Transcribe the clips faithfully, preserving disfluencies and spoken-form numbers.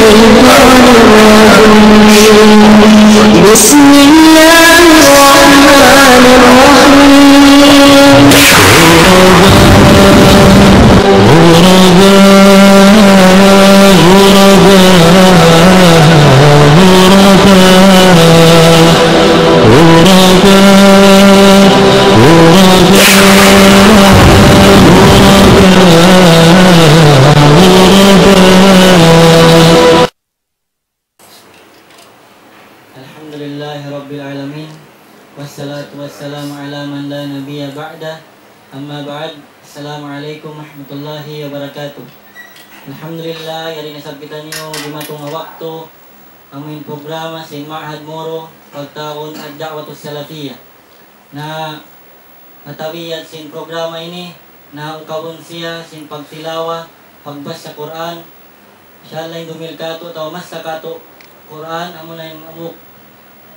بسم الله الرحمن الرحيم. الحمد لله رب العالمين، والصلاة والسلام على من لا نبي بعده، أما بعد. السلام عليكم ورحمة الله وبركاته. Alhamdulillah, yari na isab kitaniyu dimatung ha waktu amu in programa sin Ma'had Moro pagtawagun Ad-Da'watus Salafiyah. Na ha tabiat sin programa ini, na ukabun siya sin pagtilawa, pagbasa Qur'an. Insha Allah, in dumihil katu' atawa masa katu' Qur'an, amuna in hambuuk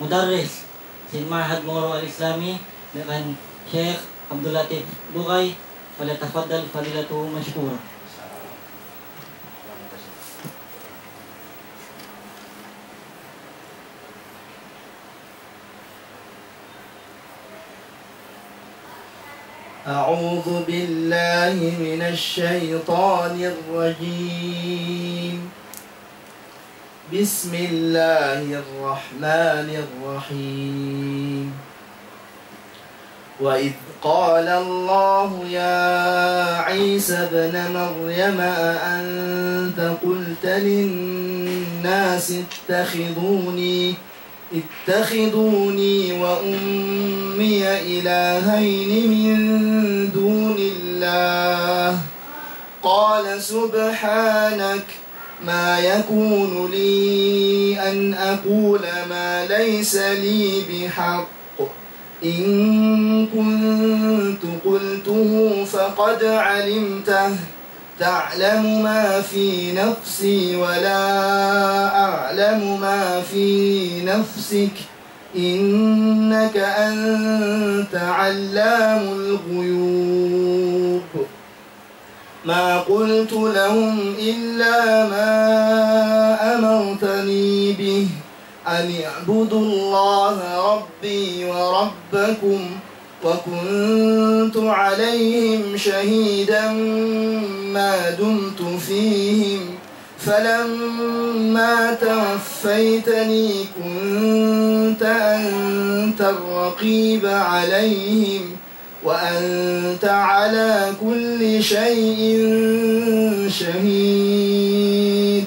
mudarris sin Ma'had Moro Al-Islami, biya' kan Sheikh Abdul Latif Bugay, فليتفضل فضيلته مشكورا. أعوذ بالله من الشيطان الرجيم. بسم الله الرحمن الرحيم. وإذ قال الله يا عيسى ابن مريم أأنت قلت للناس اتخذوني اتخذوني وأمي إلهين من دون الله. قال سبحانك ما يكون لي أن أقول ما ليس لي بحق. إن كنت قلته فقد علمته. تعلم ما في نفسي ولا أعلم ما في نفسك، إنك أنت علام الغيوب. ما قلت لهم إلا ما أمرتني به أن اعبدوا الله ربي وربكم، وكنت عليهم شهيدا ما دمت فيهم، فلما توفيتني كنت أنت الرقيب عليهم، وأنت على كل شيء شهيد.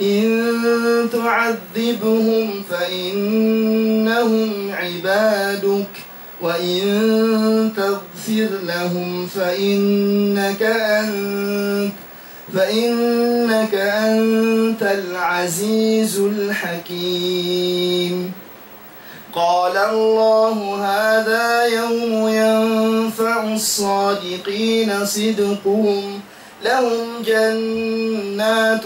إن تعذبهم فإنهم عبادك، وإن تغفر لهم فإنك أنت، فإنك أنت العزيز الحكيم. قال الله هذا يوم ينفع الصادقين صدقهم، لهم جنات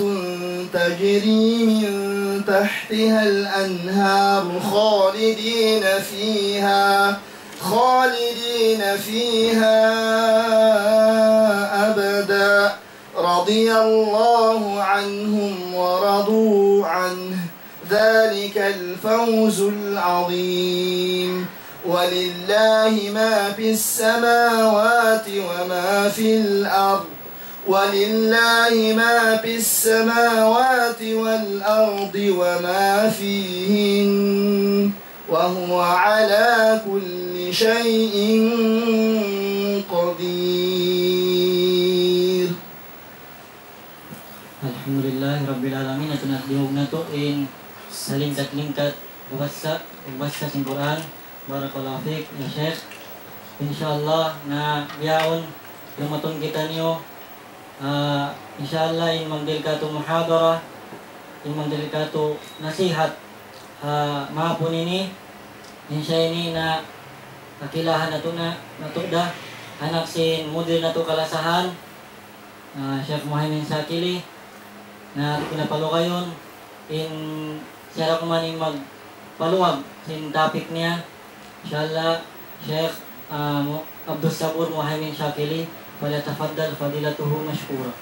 تجري من تحتها الأنهار خالدين فيها، خالدين فيها أبدا، رضي الله عنهم ورضوا عنه، ذلك الفوز العظيم. ولله ما في السماوات وما في الأرض، ولله ما في السماوات والأرض وما فيهن، وهو على كل شيء قدير. Alhamdulillahi Rabbil Alamin, atu na diyungug natu' in salingkat-lingkat pagbasa, pagbasa sin Qur'an. Barakallahu fik, ya Sheikh. Insha Allah, na bihaun, lumatun kitaniyu, ah, insha Allah, in magdihil katu' muhadara, in magdihil katu' nasihat, ah, mahapun ini, insha ini na kakilahan natu' na, natu' da, anak sin mudir natu' kalasahan, ah, Sheikh Muhaimin Shakili, na atu na palugayun, in siya da kuman in magpaluag sin topic niya, insha Allah, Sheikh, ah, Mu-, Abdus Sabur Muhaimin Shakili, فليتفضل فضيلته مشكورا.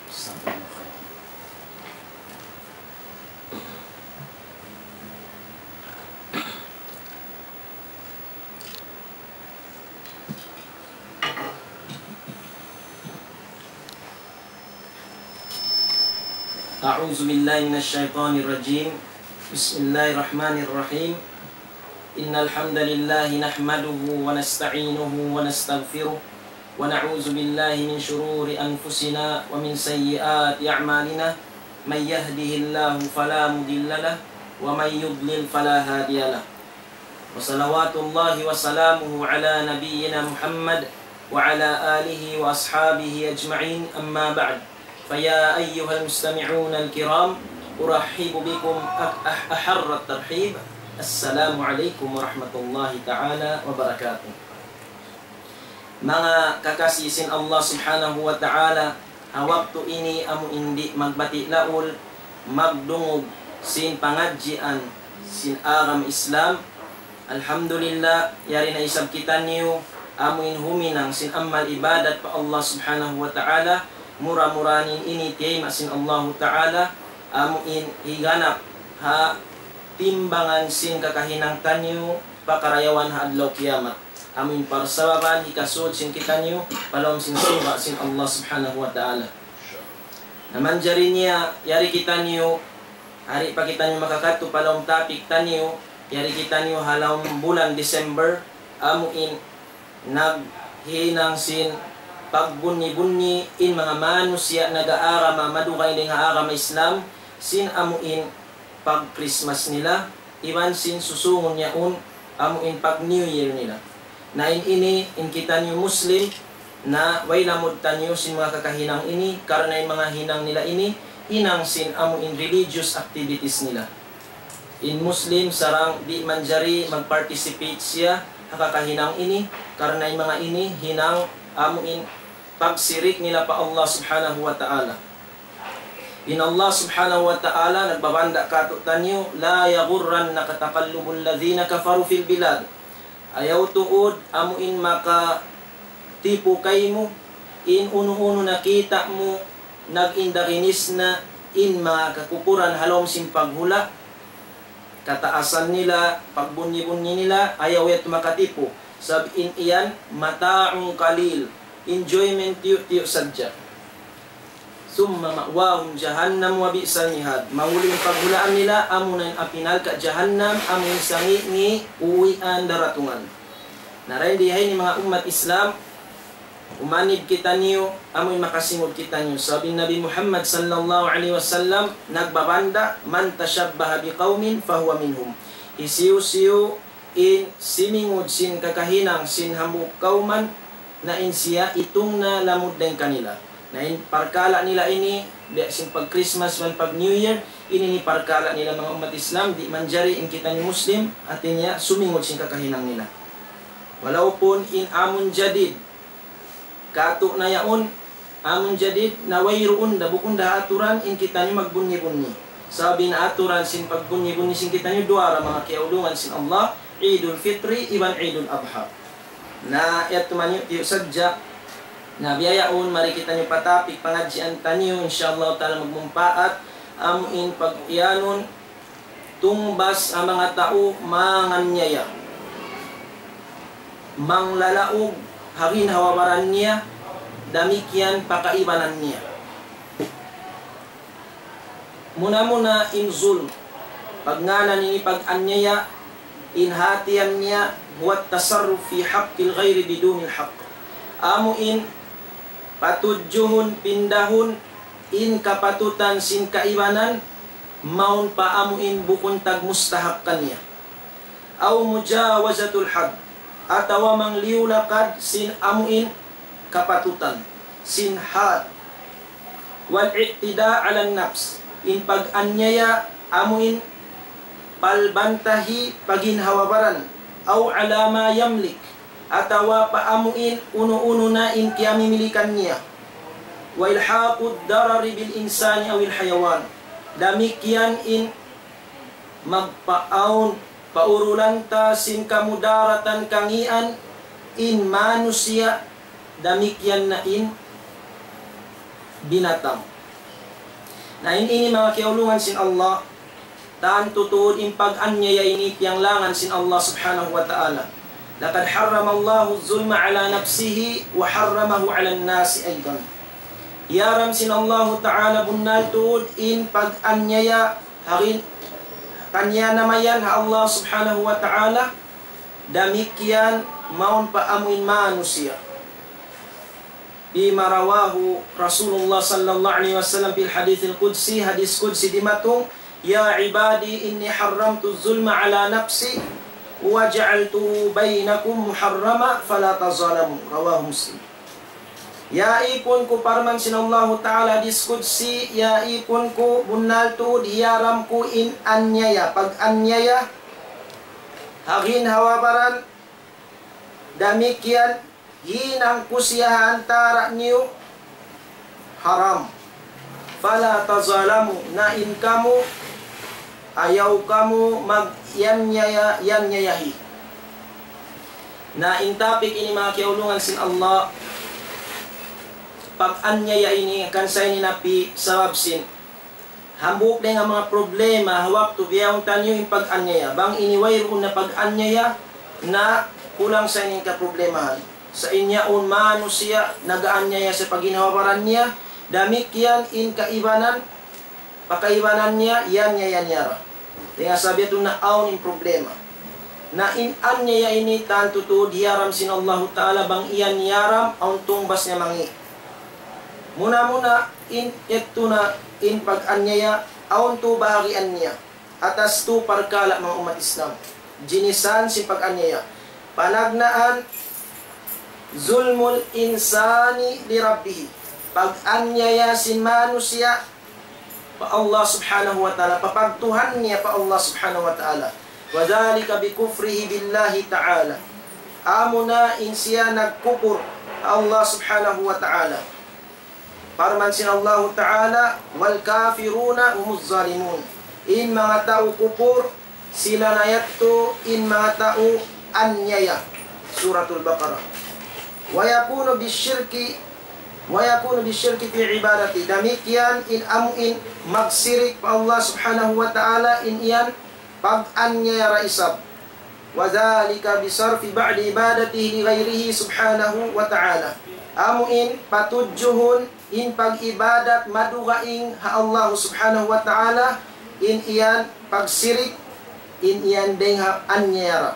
Jazakumullahu khairan. أعوذ بالله من الشيطان الرجيم. بسم الله الرحمن الرحيم. إن الحمد لله نحمده ونستعينه ونستغفره، ونعوذ بالله من شرور أنفسنا ومن سيئات أعمالنا. من يهده الله فلا مضل له، ومن يضلل فلا هادي له. وصلوات الله وسلامه على نبينا محمد وعلى آله وأصحابه أجمعين، أما بعد. فيا أيها المستمعون الكرام، أرحب بكم أح-، أح-، أحر الترحيب. السلام عليكم ورحمة الله تعالى وبركاته. Manga kakasi sin Allah Subhanahu wa Ta'ala, ha waktu ini amu in di' magbati' laul, magdungug sin pangadjian sin agama Islam. Alhamdulillah, yari na isab kitaniyu amu in huminang sin amal ibadat pa Allah Subhanahu wa Ta'ala, mura-murahan in ini tiyayma' sin Allahu Ta'ala, amu in higanap ha timbangan sin kakahinang taniyu pakarayawan ha adlaw kiyamat. Amu in parsababan hikasud sin kitaniyu pa lawm sin surga' sin Allah Subhanahu wa Ta'ala. Na manjari niya, yari kitaniyu, hari pa kitaniyu makakadtu pa lawm topic taniyu, yari kitaniyu ha lawm bulan December, amu in naghinang sin pagbunyi-bunyi in manga manusiya' nag-aagama, madugay dayn ha agama Islam, sin amu in pag-Christmas nila, iban sin susungun yaun, amu in pag-New Year nila. Na in ini, in kitaniyu Muslim, na way lamud taniyu sin manga kakahinang ini, karna' in manga hinang nila ini, hinang sin amu in religious activities nila. In Muslim sarang di' manjari mag-participate siya ha kakahinang ini, karna' in manga ini hinang amu in pagsirik nila pa Allah Subhanahu wa Ta'ala. In Allah Subhanahu wa Ta'ala nagbabanda' kātu'niyu, لا يغرنك تقلب الذين كفروا في البلاد. Ayaw tuud amu in makatipu kaymu in unu-unu nakita' mu nag-indaginis na in manga kakupuran ha lawm sin paghula', kataasan nila, pagbunyi-bunyi nila, ayaw yadtu makatipu. Sabab in yan, متاع قليل, enjoyment tiyu'-tiyu' sadja. ثم مأواهم جهنم وبئس المهاد. Mahuli in paghulaan nila, amuna in api narka' jahannam, amu in sangi'-ngi' uwian daratungan. Na dayn di ha ini manga ummat Islam, umanib kitaniyu, amu in makasingud kitaniyu. Sabab in Nabi Muhammad sallallahu alayhi wasallam nagbabanda', من تشبه بقوم فهو منهم. Hisiyu-siyu in simingud sin kakahinang sin hambuuk kawman, na in siya itung na lamud dayn kanila. Na in parkala' nila ini, biya' sin pag-Christmas iban pag-New Year, ini in parkala' nila manga ummat Islam, di' manjari in kitaniyu Muslim, hati niya sumingud sin kakahinang nila. Walaupun in amun jadid, kātu' na yaun, amun jadid na wayruun da, bukun da aturan in kitaniyu magbunyi-bunyi. Sabab in aturan sin pagbunyi-bunyi sin kitaniyu duwa ra manga kiyaulungan sin Allah, Eidul Fitri iban Eidul Adha. Na yadtu man tiyu' sadja. Na biya' yaun, mari kitaniyu pa topic pangadjian taniyu, insya Allah ta'ala magmumpaat, amu in pag-iyanun, tungbas ha manga tau manganyaya, manglalaug ha ginhawa baran niya, damikkiyan pa kaibanan niya. Muna-muna in zulm, pagngānan ini pag-anyaya, in hātihan niya, هو التصرف في حق الغير بدون الحق. Amu in patudjuhun, pindahun, in kapatutan sin kaibanan, mawn pa amu in bukun tagmustahak kaniya. أو مجاوزة الحد, atawa mangliyu lakad sin amu in kapatutan, sin had. والاعتداء على النفس, in pag-anyaya amu in palbantahi pa ginhawa baran, أو على ما يملك, atawa pa amu in unu-unu na in kiyamimilikan niya. وإلحاق الضرر بالإنسان أو الحيوان. Damikkiyan in magpaawn, paurulan ta sin kamudaratan kangīan in manusiya', damikkiyan na in binatang. Na in ini manga kiyaulungan sin Allah, tantu tuud in pag-anyaya ini piyanglangan sin Allah Subhanahu wa Ta'ala. لقد حرم الله الظلم على نفسه وحرمه على الناس أيضا. Hiyaram sin Allahu Ta'ala bunnal tuud in pag-anyaya ha gin-, kaniya namayan ha Allah Subhanahu wa Ta'ala, damikkiyan mawn pa amuin manusiya'. فيما رواه رسول الله صلى الله عليه وسلم في الحديث القدسي, hadis qudsi dimatung, يا عبادي إني حرمت الظلم على نفسي وجعلته بينكم محرما فلا تظالموا. رواه مسلم. Ya ipun ku, parman sin Allahu Ta'ala hadis qudsi, ya ipun ku, bunnal tuud hiyaram ku in anyaya, pag-anyaya, ha ginhawa-baran, damikkiyan hinang ku siya ha antara' niyu haram. فلا تظالموا, na in kamu, ayaw kamu mag-, yanyaya-, yanyayahi. Na in topic ini, manga kiyaulungan sin Allah, pag-anyaya ini, kan sa ini napi sabab sin hambuuk dayn ha manga problema ha waktu bihaun taniyu in pag-anyaya. Bang ini wayruun na pag-anyaya, na kulang sa ini in kaproblemahan. Sa' in yaun manusiya' nag-anyaya sa pa ginhawa-baran niya, damikkiyan in kaibanan, pa kaibanan niya, yanyaya niya ra. Dayn ha sabab yadtu na awn in problema. Na in anyaya ini tantu tuud hiyaram sin Allahu Ta'ala, bang iyan hiyaram, awn tungbas niya mangi'. Muna-muna, in yadtu na in pag-anyaya, awn tu bahagian niya. Atas tu parkala', manga ummat Islam. Jinisan sin pag-anyaya. Panagnaan, ظلم الإنسان لربه. Pag-anyaya sin manusiya' pa Allah Subhanahu wa Ta'ala, pa pagtuhan niya pa Allah Subhanahu wa Ta'ala. وذلك بكفره بالله تعالى. Amuna in siya nagkupur pa Allah Subhanahu wa Ta'ala. Parman sin Allahu Ta'ala, والكافرون هم الظالمون. In manga tau kupur, sila na yadtu in manga tau anyaya. Suratul Baqarah. ويكون بالشرك، ويكون بالشرك في عبادته. Damikkiyan in amu in magsirik pa Allah Subhanahu wa Ta'ala, in yan pag-anyaya ra isab. وذلك بصرف بعض عبادته لغيره سبحانه وتعالى. Amu in patudjuhun in pag-ibadat madugaing ha Allah Subhanahu wa Ta'ala, in yan pagsirik, in yan dayng ha anyaya ra.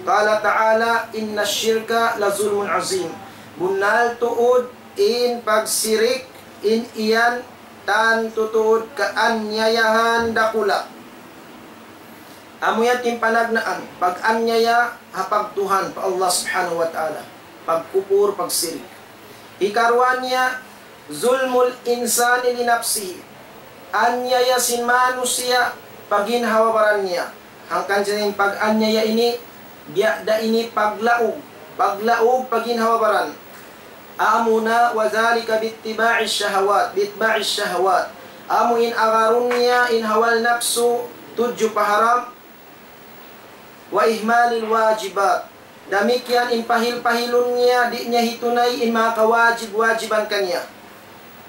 قال تعالى: إن الشرك لظلم عظيم. Bunnal tuud in pagsirik, in yan tantu tuud kaanyayahan dakula'. Amu yan in panagnaan, pag-anyaya ha pagtuhan pa Allah Subhanahu wa Ta'ala, pagkupur, pagsirik. Hikaruwa niya, ظلم الإنسان لنفسه. Anyaya sin manusiya' pa ginhawa-baran niya. Hangkan sin pag-anyaya ini, biya' da ini paglaug. Paglaug pa ginhawa-baran. Amuna, وذلك باتباع الشهوات، بإتباع الشهوات. Amu in agarun niya in hawa napsu tudju pa haram. وإهمال الواجبات. Damikkiyan in pahil-pahilun niya, di' niya hitunay in manga kawajib-wajiban kaniya.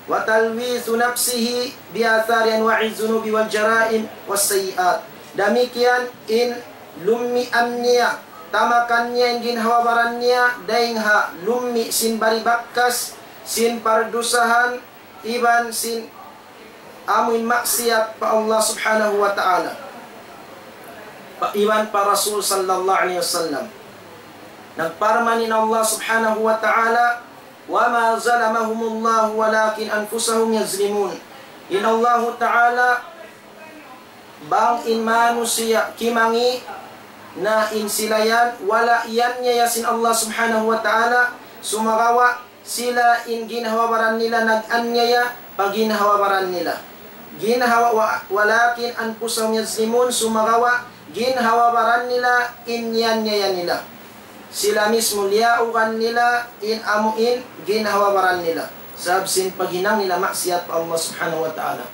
وتلويث نفسه بآثار أنواع الذنوب والجرائم والسيئات. Damikkiyan in lummian niya, tamakan niya in ginhawa-baran niya, dayng ha lummi' sin bari bakkas, sin pardusahan, iban sin amuin maksiyat pa Allah Subhanahu wa Ta'ala. Pa, iban pa Rasul sallallahu alayhi wasallam. Nagparman in Allah Subhanahu wa Ta'ala, وما ظلمهم الله ولكن أنفسهم يظلمون. In Allahu Ta'ala, bang in manusiya' kimangi' na in sila yan, wala' iyanyaya sin Allah Subhanahu wa Ta'ala, sumagawa' sila in ginhawa-baran nila nag-anyaya pa ginhawa-baran nila. Ginhawa-, wa-, ولكن أنفسهم يظلمون, sumagawa' ginhawa-baran nila in iyanyaya nila. Sila mismu liyaugan nila in amuin ginhawa-baran nila. Sabab sin paghinang nila maksiyat pa Allah Subhanahu wa Ta'ala.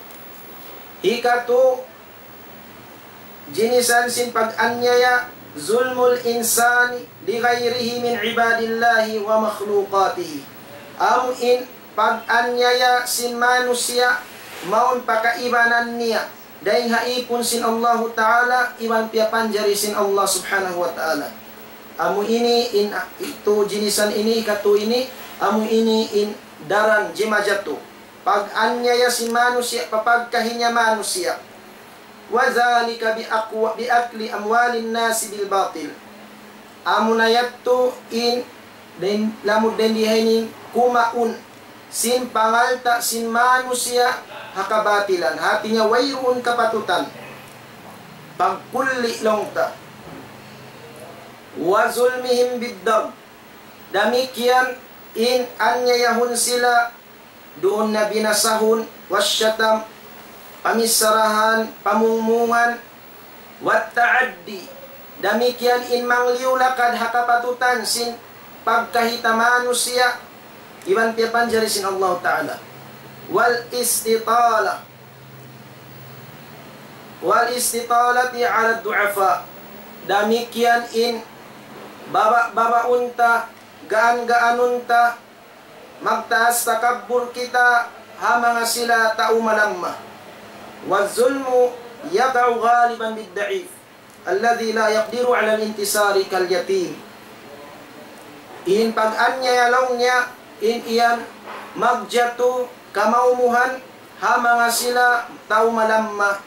Hikatu, jinisan sin pag-anyaya, ظلم الإنسان لغيره من عباد الله ومخلوقاته. Amuin pag-anyaya sin manusiya' mawn pa kaibanan niya, dayng ha īpun sin Allahu Ta'ala, iban piyapanjari sin Allah Subhanahu wa Ta'ala. Amu ini in, itu jinisan ini, katu ini, amu ini in daran jimajatu. pag-anyaya sin manusiya' pa pagkahi niya manusiya'. وذلك بأكو-، بأكل أموال الناس بالباطل. Amuna yadtu in, dayn, lamud dayn di ha ini kumaun sin pangalta' sin manusiya' ha kabatilan. Hati niya wayruun kapatutan. Pagkulli laung ta. وظلمهم بالضرب. Damikkiyan in anyayahun sila duun na binasahun, والشتم, pamissarahan, pamungmungan, والتعدي, damikkiyan in mangliyu lakad ha kapatutan sin pagkahi ta manusiya', iban piyapanjari sin Allahu Ta'ala. والاستطالة, والاستطالة على الضعفاء, damikkiyan in baba'-babaun ta, gaan-gaanun ta, magtaas takabbur kita ha manga sila tau malamma. والظلم يقع غالبا بالضعيف الذي لا يقدر على الانتصار كاليتيم. In pag-anyaya laung niya, in iyan magjatu kamaumuhan ha manga sila tau malamma.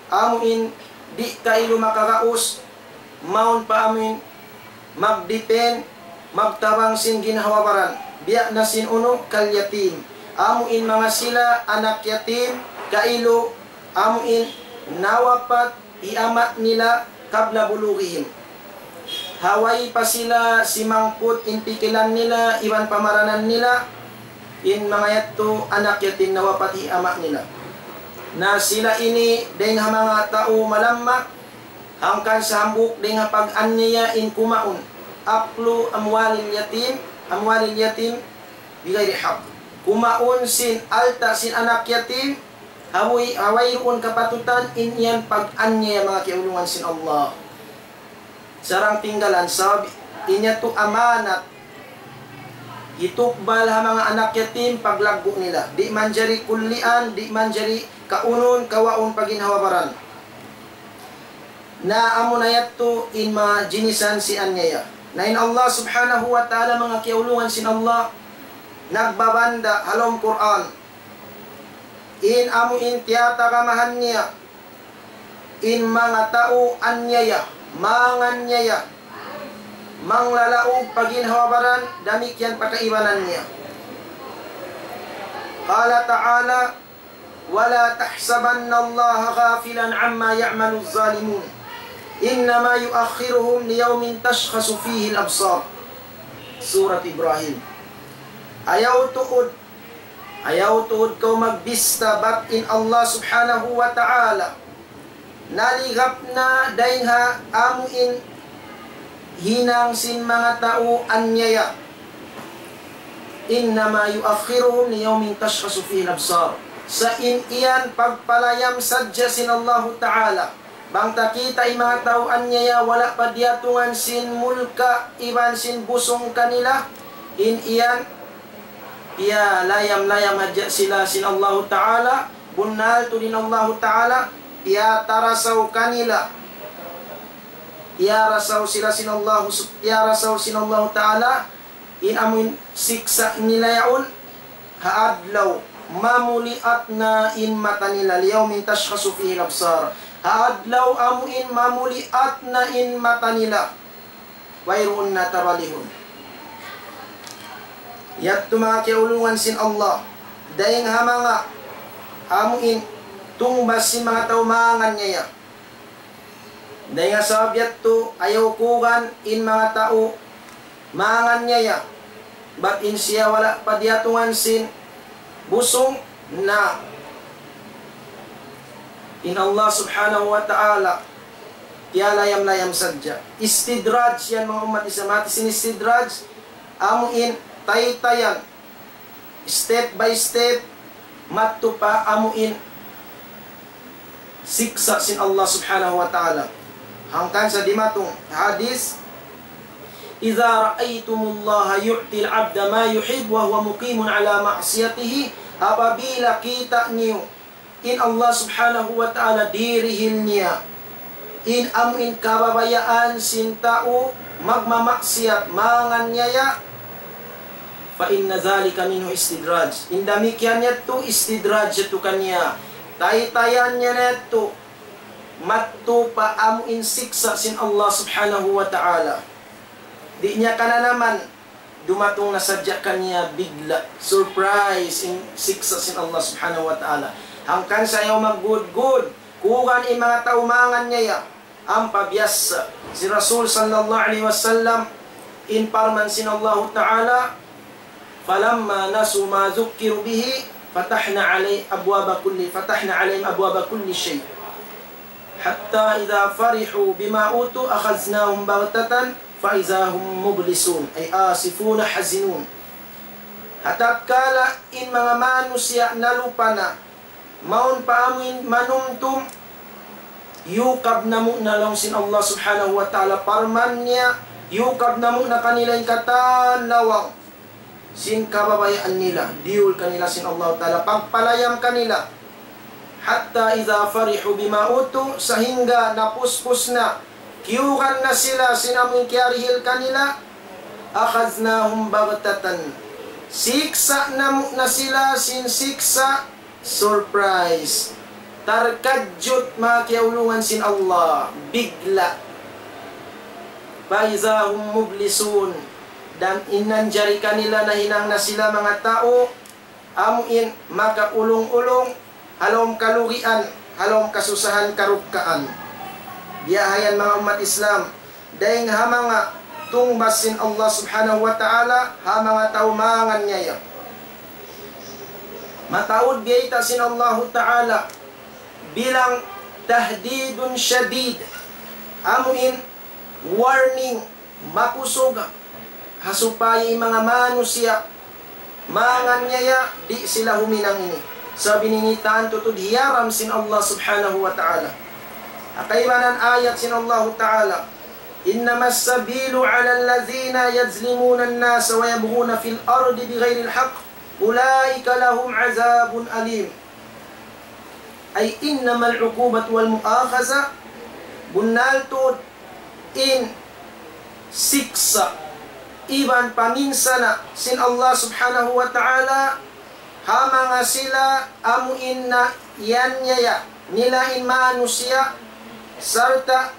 Amu in di' kailu makagaus, mawn pa amu in magdipin, magtabang sin ginhawa-baran. Biya' na sin unu, كاليتيم. Amu in manga sila anak yatim, kailu, amu in nawapat hi ama' nila قبل بلوغهم. Ha way pa sila simangput in pikilan nila, iban pamaranan nila, in manga yadtu anak yatim nawapat hi ama' nila. Na sila ini dayn ha manga tau malamma, hangkan sa hambuuk dayn ha pag-anyaya in kumaun. أكل أموال اليتيم، أموال اليتيم بغير حق. Kumaun sin alta' sin anak yatim, ha way, ha wayruun kapatutan, in yan pag-anyaya manga kiyaulungan sin Allah. Sarang tinggalan, sabab in yadtu amanat, hitukbal ha manga anak yatim paglaggu' nila. Di' manjari kullian, di' manjari kaunun, kawaun pa ginhawa-baran. Na amuna yadtu in manga jinisan sin anyaya. Na in Allah Subhanahu wa Ta'ala, manga kiyaulungan sin Allah, nagbabanda' ha lawm Qur'an. In amu in tiyatagamahan niya, in manga tau anyaya, manganyaya, manglalaug pa ginhawa-baran, damikkiyan pa kaibanan niya. قال تعالى: ولا تحسبن الله غافلا عما يعمل الظالمون إنما يؤخرهم ليوم تشخص فيه الأبصار. Surat Ibrahim. Ayaw tuud, ayaw tuud kaw magbista bat in Allah Subhanahu wa Ta'ala naligap na dayn ha amu in hinang sin manga tau anyaya. إنما يؤخرهم ليوم تشخص فيه الأبصار. Sa' in yan pagpalayam sadja sin Allahu Ta'ala. Bang ta kita' in manga tau anyaya wala' pa diyatungan sin mulka' iban sin busung kanila, in yan piyalayam-layam hadja sila sin Allahu Ta'ala, bunnal tuud in Allahu Ta'ala, piyatarasaw kanila. Piyarasaw sila sin Allahu sub-, piyarasaw sin Allahu Ta'ala, in amu in siksa' nila yaun, ha adlaw mamuliat na in mata nila, ليوم تشخص فيه الأبصار. Ha adlaw amu in mamuliat na in mata nila. Wayruun na tabalihun. Yadtu manga kiyaulungan sin Allah. Dayn ha manga amu in tungbas sin manga tau manganyaya. Dayn ha sabab yadtu, ayaw kugan in manga tau manganyaya. Bat in siya wala' pa diyatungan sin busung na in Allah Subhanahu wa Ta'ala piyalayam-layam sadja. Istidraj yan, manga ummat Islam. Hati sin istidraj, amu in taytayan, step by step, madtu pa amu in siksa' sin Allah Subhanahu wa Ta'ala. Hangkan sa dimatung hadis, إذا رأيتم الله يعطي العبد ما يحب وهو مقيم على معصيته, apabila kita' niyu in Allah Subhanahu wa Ta'ala dirihil niya in amu in kababayaan sin tau magmamaksiyat, manganyaya, فإن ذلك منه استدراج. In damikkiyan yadtu istidraj yadtu kaniya. Taytayan niya na yadtu. Madtu pa amu in siksa' sin Allah Subhanahu wa Ta'ala. Di' niya kananaman, dumatung na sadja kaniya bigla', surprise, in siksa' sin Allah Subhanahu wa Ta'ala. Hangkan sa ayaw maggudgud, kuwan in manga tau mangan niya ya. Ampa biyasa sin Rasul sallallahu alayhi wasallam, in parman sin Allahu Ta'ala, فلما نسوا ما ذكروا به فتحنا علي أبواب كل فتحنا عليهم أبواب كل شيء حتى إذا فرحوا بما أوتوا أخذناهم بغتة فإذا هم مبلسون أي آسفون حزنون. Ha tatkala in manga manusiya' nalupa na mawn pa amuin manumtum, yukab namu' na laung sin Allah Subhanahu wa Ta'ala parman niya, yukab namu' na kanila in katan lawang sin kababayaan nila, diyul kanila sin Allah Ta'ala, pagpalayam kanila. حتى إذا فرحوا بما أوتوا, sahingga napuspus na, kiyugan na sila sin amuin kiyarihil kanila, أخذناهم بغتة, siksa' namu' na sila sin siksa' surprise. Tarkadjut, manga kiyaulungan sin Allah, bigla'. فإذا هم مبلسون, dan in nanjari kanila nahinang na sila manga tau, amuin makaulung-ulung, ha lawm kalugian, ha lawm kasusahan karukkaan. Biya' ha yan manga ummat Islam, dayng ha manga tungbas sin Allah Subhanahu wa Ta'ala, ha manga tau mangan niya ya. Mataud biyayta' sin Allahu Ta'ala bilang تهديد شديد. Amuin warning, makusug, ha supaya in manga manusiya' mangan niya ya, di' sila huminang ini. Sabab ini tantu tuud hiyaram sin Allah Subhanahu wa Ta'ala. Ha kaibanan ayat sin Allahu Ta'ala, إنما السبيل على الذين يظلمون الناس ويبغون في الأرض بغير الحق أولئك لهم عذاب أليم. أي إنما العقوبة والمؤاخذة, bunnal tuud in siksa' iban paminsana' sin Allah Subhanahu wa Ta'ala ha manga sila amuin na yan niya ya nila in manusiya', sarta'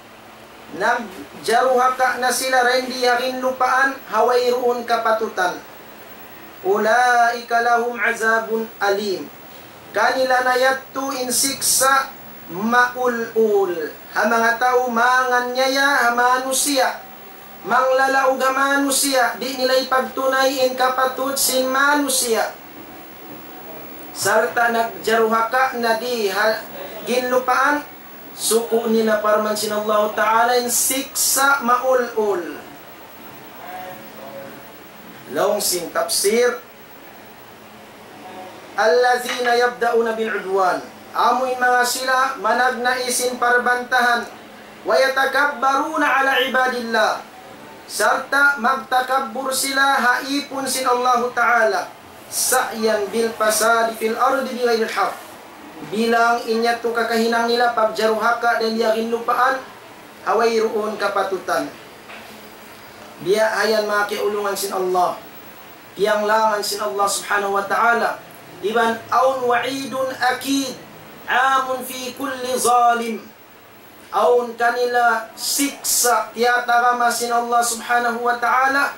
nagjaruhaka na sila dayn di ha ginlupaan ha wayruun kapatutan. أولئك لهم عذاب أليم. Kanila na yadtu in siksa' maul-ul. Ha manga tau mangan niya ya ha manusiya', manglalaug ha manusiya', di' nila ipagtunay in kapatut sin manusiya', sarta' nagjaruhaka na di ha ginlupaan, suku' nila parman sin Allahu Ta'ala in siksa' maul-ul. Laung sin tafsir, الذين يبدأون بالعدوان, amu in manga sila managnai sin parbantahan, ويتكبرون على عباد الله, sarta' magtakabbur sila ha īpun sin Allahu Ta'ala, سعيا بالفساد في الأرض بغير الحق, bilang in yadtu kakahinang nila pagjaruhaka dayn di ha ginlupaan ha wayruun kapatutan. Biya' ha yan manga kiyaulungan sin Allah, piyanglangan sin Allah Subhanahu wa Ta'ala, iban awn وعيد أكيد عام في كل ظالم. Awn kanila siksa' tiyatarama sin Allah Subhanahu wa Ta'ala,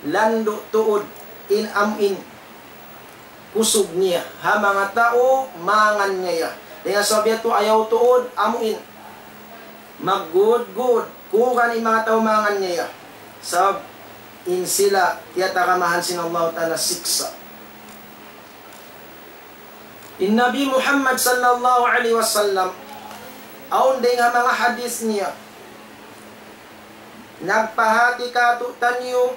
landu' tuud in amuin kusug niya ha manga tau mangan niya ya. Dayn ha sabab yadtu ayaw tuud amuin maggudgud, kuwan in manga tau mangan niya ya. Sabab in sila tiyataramahan sin Allah Ta'ala siksa'. In Nabi Muhammad sallallahu alayhi wasallam, awn dayn ha manga hadith niya, nagpahāti kātu'niyu,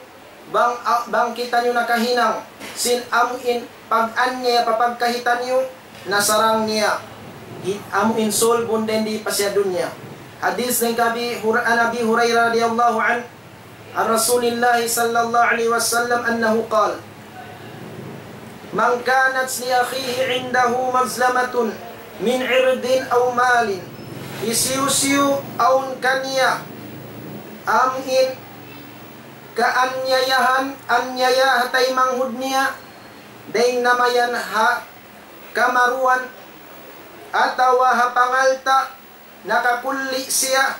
bang, bang kitaniyu nakahinang sin amuin pag-anyaya pa pagkahi taniyu, nasarang niya, hi-, amuin sulbun dayn di pa siya dunya. Hadith dayn kan Abi Hur-, عن أبي هريرة رضي الله عنه عن رسول الله صلى الله عليه وسلم أنه قال: من كانت لأخيه عنده مظلمة من عرض أو مال, hisiyu-siyu awn kaniya amuin kaanyayahan, anyaya ha taymanghud niya, dayn na mayan ha kamaruan, atawa ha pangalta', nakakulli siya,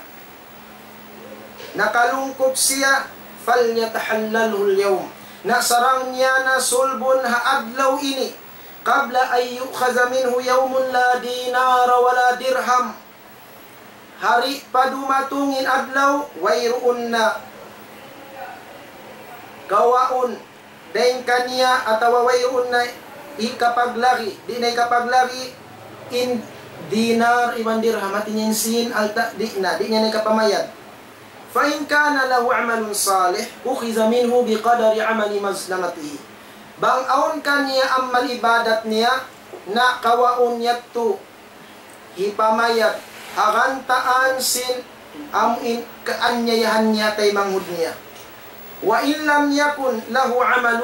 nakalungkup siya, فليتحلله اليوم. Na sarang niya na sulbun ha adlaw ini, قبل أن يؤخذ منه يوم لا دينار ولا درهم. Hari pa dumatung in adlaw, wayruun na kawaun dayn kaniya atawa wayruun na ikapaglari, di' na ikapaglari in dinar iban dirham, hati niya in sīn, alta', di' na, di' niya na ikapamayad. فإن كان له عمل صالح أخذ منه بقدر عمل مظلمته. Bang awn kaniya amal ibadat niya, na kawaun yadtu hipamayad ha gantaan sin amuin kaanyayahan niya taymanghud niya. وإن لم يكن له عمل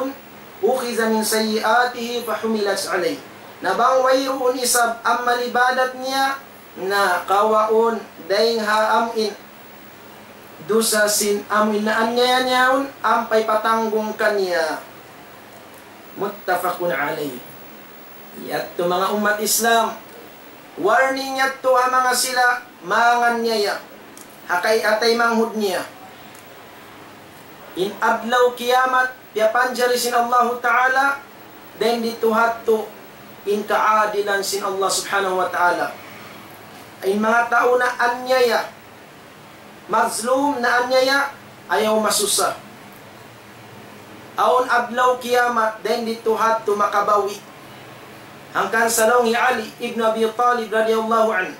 أخذ من سيئاته فحملت عليه. Na bang wayruun isab amal ibadat niya, na kawaun dayn ha amuin dusa sin amuin naanyaya niya yaun, ampa ipatanggung kaniya. متفق عليه. Yadtu manga ummat Islam, warning yadtu ha manga sila manganyaya ha kay-, ha taymanghud niya. In adlaw kiyamat, piyapanjari sin Allahu Ta'ala, dayn didtu hadtu in kaadilan sin Allah Subhanahu wa Ta'ala. In manga tau naanyaya, mazlum, naanyaya, ayaw masusa. Awn adlaw kiyamat, dayn didtu hadtu makabawi'. Hangkan sa laung hi Ali ibn Abi Talib radiyallahu anhu,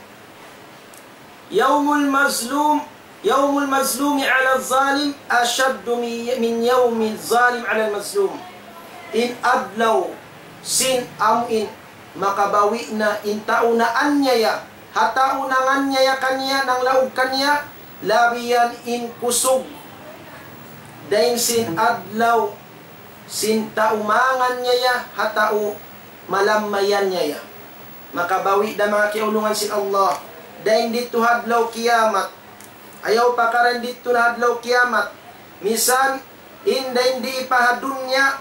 يوم المظلوم، يوم المظلوم على الظالم أشد من، من يوم الظالم على المظلوم. In adlaw sin amuin makabawi' na in tau naanyaya ha tau nanganyaya kaniya, nanglaug kaniya, labi yan in kusug dayn sin adlaw sin tau manganyaya ha tau malamma iyanyaya. Makabawi' da manga kiyaulungan sin Allah dayn didtu ha adlaw kiyamat. Ayaw pa karan didtu na adlaw kiyamat. Misan in dayn di pa ha dunya,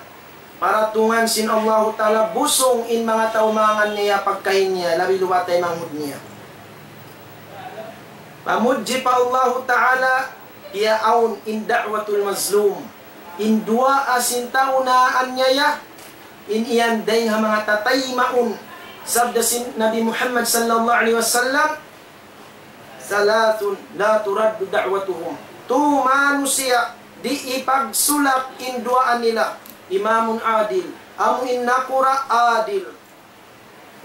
paratungan sin Allahu Ta'ala busung in manga tau manganyaya pagkahi niya, labi luba taymanghud niya. Pamudji pa Allahu Ta'ala, piyaawn in da'watul mazlum. In duwaa sin tau naanyaya, in yan dayn ha manga tataymaun. Sabda sin Nabi Muhammad sallallahu alayhi wasallam, ثلاث لا ترد دعوتهم. Tu manusiya' di' ipagsulak in duwaa nila. إمام عادل, amu in nakura' adil.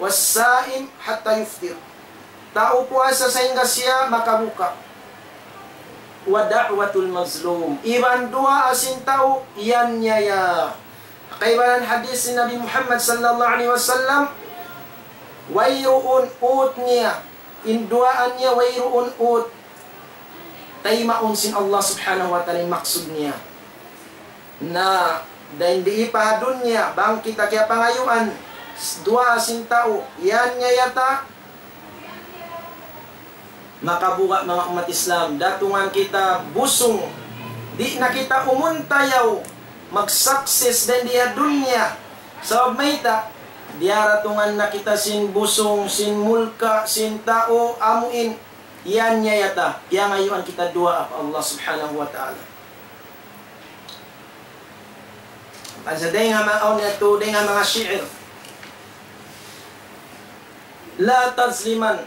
والصائم حتى يفطر. Tau puasa sahingga siya makabuka. ودعوة المظلوم. Iban duwaa sin tau iyanyaya. Kaibanan hadis sin Nabi Muhammad sallallahu alayhi wasallam, wayruun ut niya, in duwaa niya wayruun ut taymaun sin Allah Subhanahu wa Ta'ala in maksud niya. Na, dayn di pa ha dunya, bang kita kiyapangayuan duwaa sin tau, iyanyaya ta, makabuga' manga ummat Islam, datungan kita busung, di' na kita umuntayaw mag-success dayn di ha dunya. Sabab mayta', diyaratungan na kita sin busung, sin mulka', sin tau, amuin iyanyaya ta, piyangayuan kita duwaa pa Allah Subhanahu wa Ta'ala. Bang sa dayn ha ma-, awn yadtu, dayn ha manga shi'ir. لا تظلمن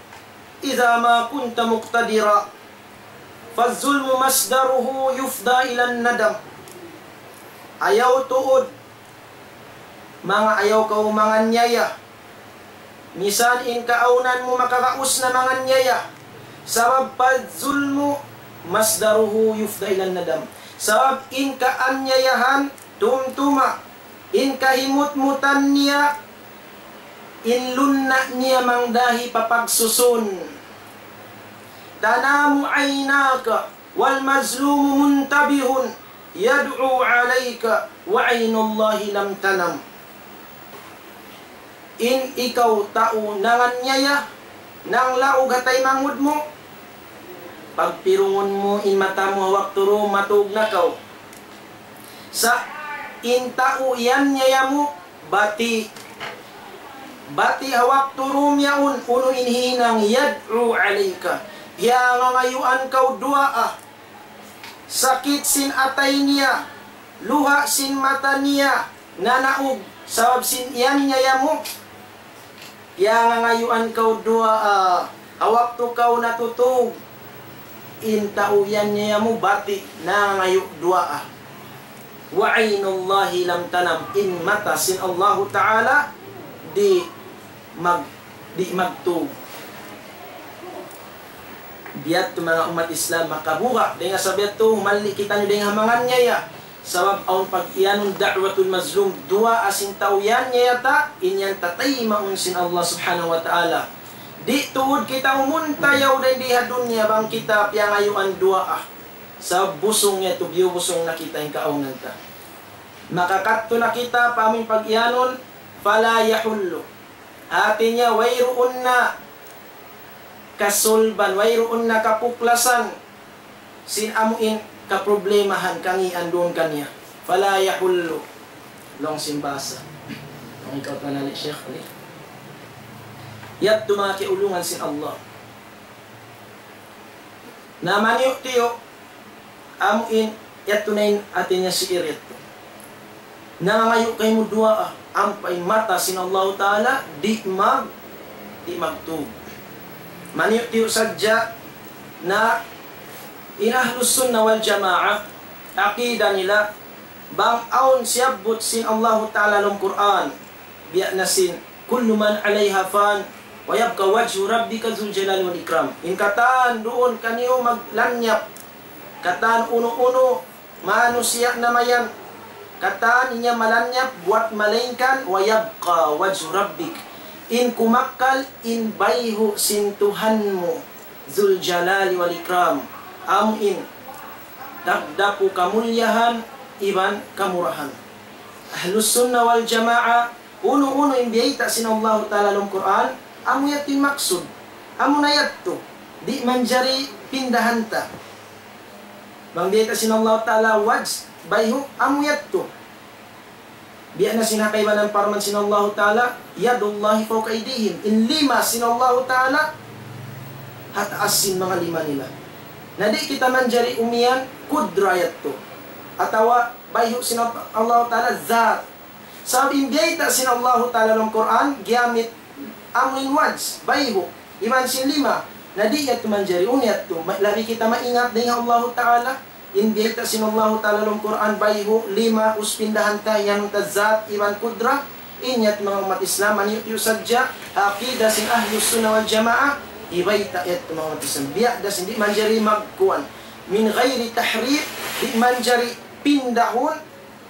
إذا ما كنت مقتدرا، فالظلم مصدره يفضي إلى الندم. Ayaw tuud, manga ayaw kaw manganyaya. Misan in kaawnan mu makagaus na manganyaya. Sabab فالظلم مصدره يفضي إلى الندم. Sabab in kaanyayahan tumtuma, in kahimutmutan niya, in lunna' niya mangdahi pa pagsusun. تنام عيناك والمظلوم منتبه يدعو عليك وعين الله لم تنم. In ikaw tau nanganyaya, nanglaug ha taymanghud mu, pagpirungun mu in mata mu ha waktu duun matug na kaw. Sa' in tau yan niya yamu, bati'. Bati' ha waktu dum yaun, unu in hinang, yad'u alayka. Piyangangayuan kaw duwaa. Sakit sin atay niya, luha' sin mata niya, nanaug, sabab sin yan niya yamu. Piyangangayuan kaw duwaa, ha waktu kaw natutug, in tau yan niya yamu bati', nangangayu' duwaa. وعين الله لم تنم, in mata sin Allahu Ta'ala di' mag-, di' magtug. Biya' ha yan manga ummat Islam, makabuga', dayn ha sabab yadtu, humalli' kitaniyu dayn ha manga niyaya. Sabab awn pag-iyanun da'watul mazlum, duwaa sin tau yan niya yata, in yan tataymaun sin Allah Subhanahu wa Ta'ala. Di' tuud kita umunta yaun dayn di ha dunya bang kita piyangayuan duwaa. Sabab busung yadtu, biyubusung na kita in kaawnan ta. Makakadtu na kita pa amu in pag-iyanun, فلا يحل. Hati niya, wayruun na kasulban, wayruun na kapuklasan sin amu in kaproblemahan, kangian duun kaniya. فلا يحل. Laung sin bahasa. Laung ikaw panali, Sheikh, ali. Yadtu manga kiyaulungan sin Allah. Na maniyu'-tiyu', amu in, yadtu na in hati niya si'ir yadtu. Nangangayu' kaymu duwaa, ampa in mata sin Allahu Ta'ala, di' mag-, di' magtug. Maniyu'-tiyu' sadja na in Ahlus Sunnah wal Jamaah, aqida nila, bang awn siyabbut sin Allahu Ta'ala lawm Qur'an, biya' na sin, كل من عليها فان ويبقى وجه ربك ذو الجلال والإكرام. In katan duun kaniyu maglanyap, katan unu-unu, manusiya' na mayan, katan in yan malanyap, buwat malaingkan, ويبقى وجه ربك. In kumakkal, in bayhu' sin Tuhan mu, ذو الجلال والإكرام. Amu in, dapdapu kamulliyahan, iban kamurahan. Ahlus Sunnah wal Jamaah, unu-unu in biyayta' sin Allahu Ta'ala lawm Qur'an, amu yadtu in maksud. Amu na yadtu. Di' manjari pindahan ta. Bang biyayta' sin Allahu Ta'ala wajh, bayhu', amu yadtu. Biya' na sin ha kaibanan parman sin Allahu Ta'ala, يد الله فوق أيديهم. In lima sin Allahu Ta'ala, ha taas sin manga lima nila. Na di' kita manjari umiyan, kudra yadtu. Atawa bayhu' sin Allahu Ta'ala, zat. Sabab in biyayta' sin Allahu Ta'ala lawm Qur'an, giyamit amu in wajh, bayhu', iban sin lima. Na di' yadtu manjari, unu yadtu, ma-, labi kita maingat dayn ha Allahu Ta'ala, in biyayta' sin Allahu Ta'ala lawm Qur'an, bayhu', lima, us pindahan ta, yan ta zat, iban kudra, in yadtu manga ummat Islam, maniyu'-tiyu' sadja, aqida sin Ahlus Sunnah wal Jamaah, hibayta' yadtu manga ummat Islam. Biya' da sin di' manjari magkuwan. من غير تحريف, di' manjari pindahun,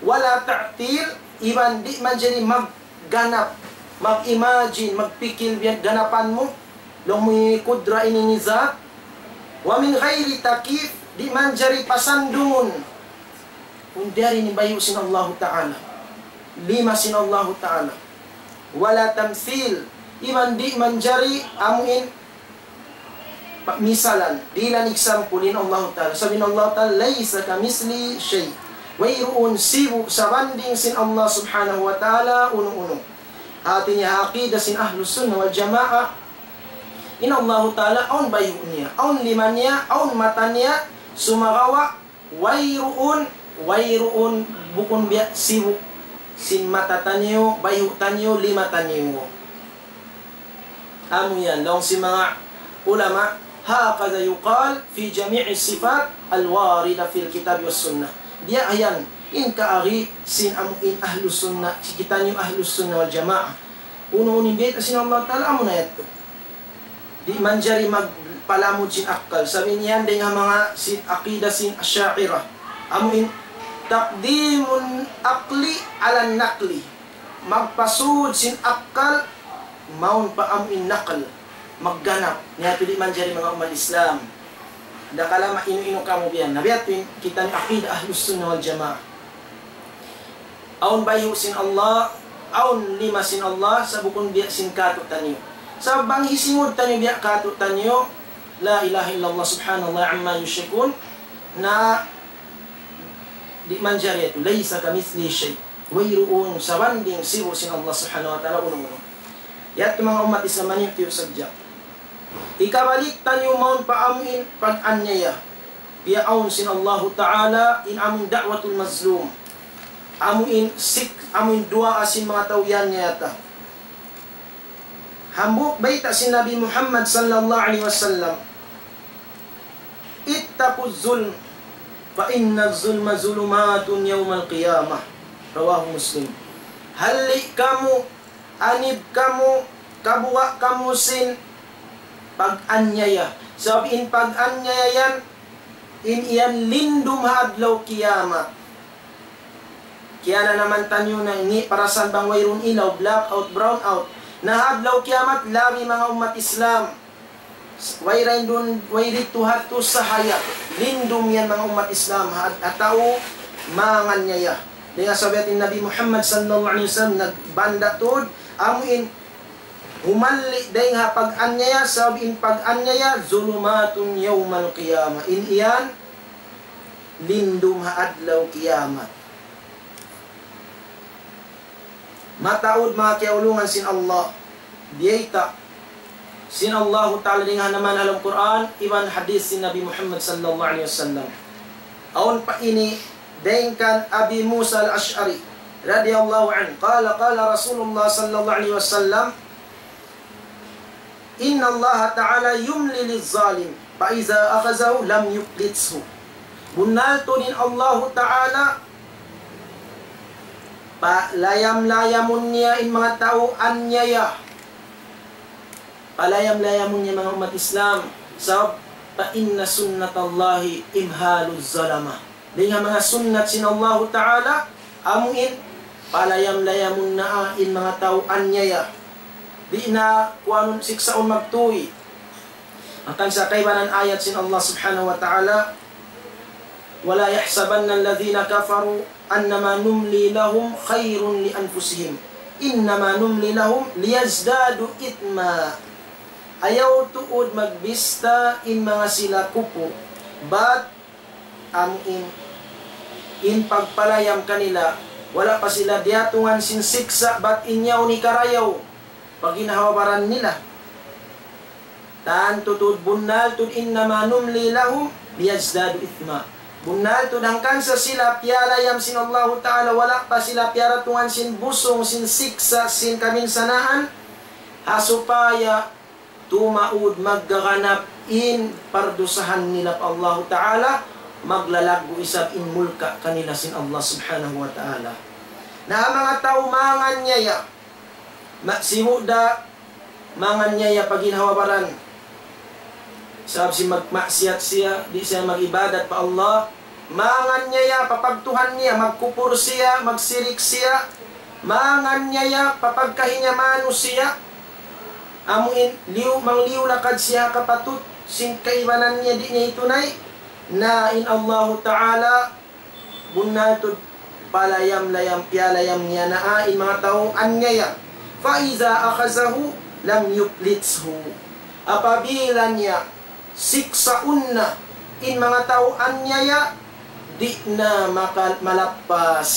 ولا تعطيل, iban di' manjari magganap, mag-imagine, magpikil biya' ganapan mu, laung mu ini kudra ini ini zat. ومن غير تكييف, di' manjari pasandungun. Unu yari in bayhu' sin Allahu Ta'ala. Lima sin Allahu Ta'ala. ولا تمثيل, iban di' manjari amu in pagmisalan, dihilan example in Allahu Ta'ala. Sabab in Allahu Ta'ala, ليس كمثله شيء. Wayruun sibu' sabanding sin Allah Subhanahu wa Ta'ala, unu-unu. Hati niya ha aqida sin Ahlus Sunnah wal Jamaah, in Allahu Ta'ala, awn bayhu' niya, awn lima niya, awn mata niya, sumagawa', wayruun, wayruun, bukun biya' sibu' sin mata taniyu, bayhu' taniyu, lima taniyu. Amu yan, laung sin manga ulama, هكذا يقال في جميع الصفات الواردة في الكتاب والسنة. Biya' yan, in kaagi sin amu in Ahlus Sunnah, sin kitaniyu Ahlus Sunnah wal Jamaah. Unu-unu in biyayta' sin Allah Ta'ala, amu na yadtu. Di' manjari magpalamud sin akkal. Sabab in yan dayn ha manga sin aqida sin Asha'irah. Amu in تقديم العقل على النقل. Magpasud sin akkal, mawn pa amu in naql. Magganap. Niya yadtu di' manjari manga ummat Islam. Dakala' mainu-inu kamu biya' yan. Na biya' yadtu in kita in aqida Ahlus Sunnah wal Jamaah. Awn bayhu' sin Allah, awn lima sin Allah, sa' bukun biya' sin kātu'niyu. Sa' bang hisingud taniyu biya' kātu'niyu, لا إله إلا الله سبحان الله عما يشركون, na Di' manjari yadtu, ليس كمثله شيء. Wayruun sabanding sibu' sin Allah Subhanahu wa Ta'ala unu-unu. Yadtu manga ummat Islam, maniyu-tiyu sadja. Hikabalik taniyu mawn pa amuin pag-anyaya. Piyaawn sin Allahu Ta'ala in amuin da'watul mazlum. Amuin sik, amuin duwaa sin manga tau yan yata. Hambuuk bayta' sin Nabi Muhammad sallallahu alayhi wasallam, اتقوا الظلم فإن الظلم ظلمات يوم القيامة. رواه مسلم. Halli' kamu, anib kamu, kabuga' kamu sin pag-anyaya. Sabab in pag-anyaya yan, in yan lindum ha adlaw kiyamat. Kiyananaman taniyu na ini parasan bang wayruun ilaw, blackout, brownout. Na ha adlaw kiyamat, labi manga ummat Islam. Way ra duun, way didtu hadtu sahaya. Lindum yan manga ummat Islam, ha, ha tau manganyaya. Dayn ha sabab in Nabi Muhammad sallallahu alayhi wasallam nagbanda' tuud, amuin humalli' dayn ha pag-anyaya, sabab in pag-anyaya, ظلمات يوم القيامة. In yan, lindum ha adlaw kiyamat. Mataud manga kiyaulungan sin Allah, biyayta' sin Allahu Ta'ala dayn ha naman ha lawm Qur'an, iban hadith sin Nabi Muhammad sallallahu alayhi wasallam. Awn pa ini dayn kan Abi Musa al-Ash'ari radiyallahu anhu, قال قال رسول الله صلى الله عليه وسلم إن الله تعالى يملي للظالم فإذا أخذه لم يفلته. Bunnal tuud in Allahu Ta'ala, palayam-layamun niya in manga tau anyaya. Palayam-layamun niya manga ummat Islam. Sabab, فإن سنة الله إمهال الظلمة. Dayn ha manga sunnat sin Allahu Ta'ala, amuin palayam-layamun na in manga tau anyaya. Di' na kuanun siksaun magtuy. Hangkan sa kaibanan ayat sin Allah Subhanahu wa Ta'ala, ولا يحسبن الذين كفروا أنما نملي لهم خير لأنفسهم إنما نملي لهم ليزدادوا إثما. Ayaw tuud magbista in manga sila kupur, bat amuin in pagpalayam kanila, wala' pa sila diyatungan sin siksa', bat in yaun hikarayaw pa ginhawa-baran nila. Tantu tuud bunnal tuud, إنما نملي لهم ليزدادوا إثما. Bunnal tuud hangkan sa sila piyalayam sin Allahu Ta'ala, wala' pa sila piyaratungan sin busung, sin siksa', sin kaminsanaan, ha supaya tumaud maggaganap in pardusahan nila pa Allahu Ta'ala, maglalaggu' isab in mulka' kanila sin Allah Subhanahu wa Ta'ala. Na ha manga tau manganyaya, ma-, sibu' da manganyaya pa ginhawa-baran. Sabab sin magmaksiyat siya, di' siya mag-ibadat pa Allah, manganyaya pa pagtuhan niya, magkupur siya, magsirik siya, manganyaya pa pagkahi niya manusiya', amuin liyu, mangliyu-lakad siya ha kapatut, sin kaibanan niya di' niya hitunay, na in Allahu Ta'ala, bunnal tuud palayam-layam, piyalayam niya na in manga tau anyaya. فإذا أخذه لم يفلته. Apabila niya siksaun na in manga tau anyaya, di' na maka-, malappas.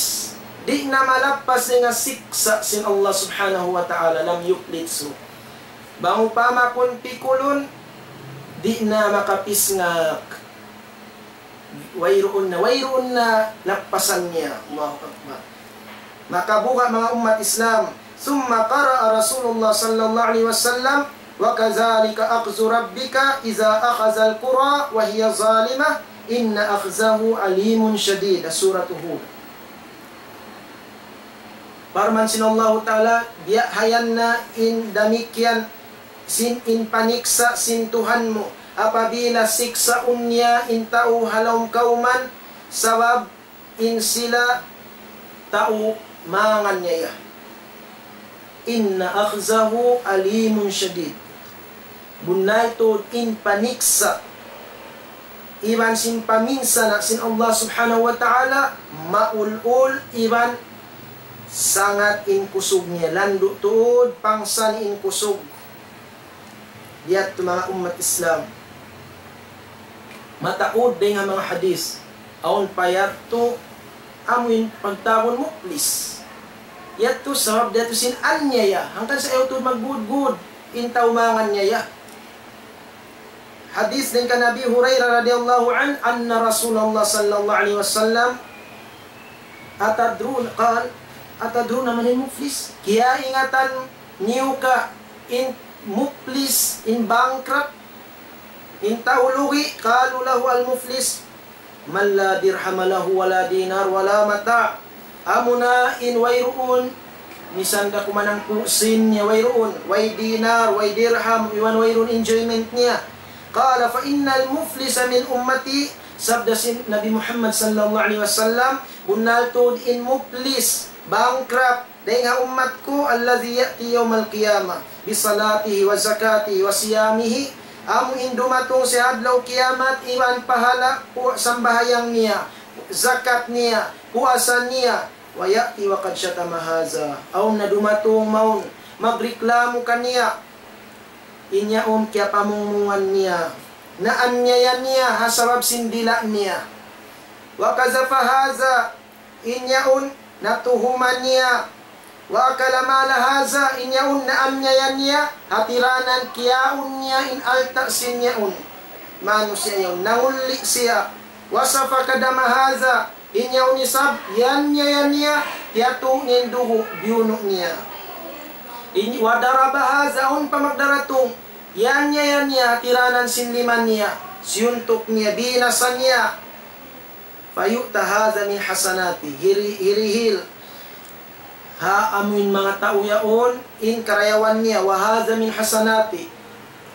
Di' na malappas dayn ha siksa' sin Allah Subhanahu wa Ta'ala, لم يفلته. Bang upama kun pikulun, di' na makapisngak. Wayruun na, wayruun na lappasan niya. Allahu Akbar. Makabuga' manga ummat Islam. ثم قرأ رسول الله صلى الله عليه وسلم وكذلك أخذ ربك إذا أخذ القرى وهي ظالمة إن أخذه أليم شديد. Surah Hud. Parman sin Allahu Ta'ala, biya' hayan na in damikkiyan sin in paniksa' sin Tuhan mu, apabila siksaun niya in tau ha lawm kawman, sabab in sila tau manganyaya. إن أخذه أليم شديد. Bunnal tuud in paniksa' iban sin paminsana' sin Allah Subhanahu wa Ta'ala, maul-ul iban sangat in kusug niya, landu' tuud pangsan in kusug. Yadtu manga ummat Islam. Mataud dayn ha manga hadith. Awn pa yadtu Amuin pagtawagun muflis. Yadtu sabab dayn ha sin anyaya. Hangkan sa' ayaw tuud maggudgud in tau mangannyaya. Hadith dayn kan Abi Hurairah radiyallahu anhu, أن رسول الله صلى الله عليه وسلم أتدرون قال أتدرون من المفلس؟ Kiyaingatan niyu ka in muflis, in bankrupt, in tau lugi'? قالوا له المفلس من لا درهم له ولا دينار ولا متاع. Amuna in wayruun, misan da kuman hangpu' sin niya wayruun, way dinar, way dirham, iban wayruun enjoyment niya. قال فإن المفلس من أمتي, sabda sin Nabi Muhammad sallallahu alayhi wasallam, bunnal tuud in muflis, bankrupt, dayn ha ummat ku, الذي يأتي يوم القيامة بصلاته وزكاته وصيامه, amu in dumatung sin adlaw kiyamat iban pahala' pu-, sambahayang niya, zakat niya, puasa niya, ويأتي وقد شتم هذا. Awn na dumatung mawn, magreklamu kaniya, in yaun kiyapamungmungan niya, naanyaya niya ha sabab sin dila' niya. وقذف هذا, in yaun natuhuman niya. وأكل مال هذا, in yaun naanyaya niya, hatiranan kiyaun niya in alta' sin yaun. Manusiya' yaun, nangulli' siya. وسفك دم هذا, in yaun isab, ianyaya niya, piyatu' niya in dugu', biyunu' niya. In, وضرب هذا, awn pa magdaratung, ianyaya niya, hatiranan sin lima niya, siyuntuk niya, binasa niya. فيؤتى هذا من حسناته, hiri-, hirihil ha amuin manga tau yaun in karayawan niya, وهذا من حسناته,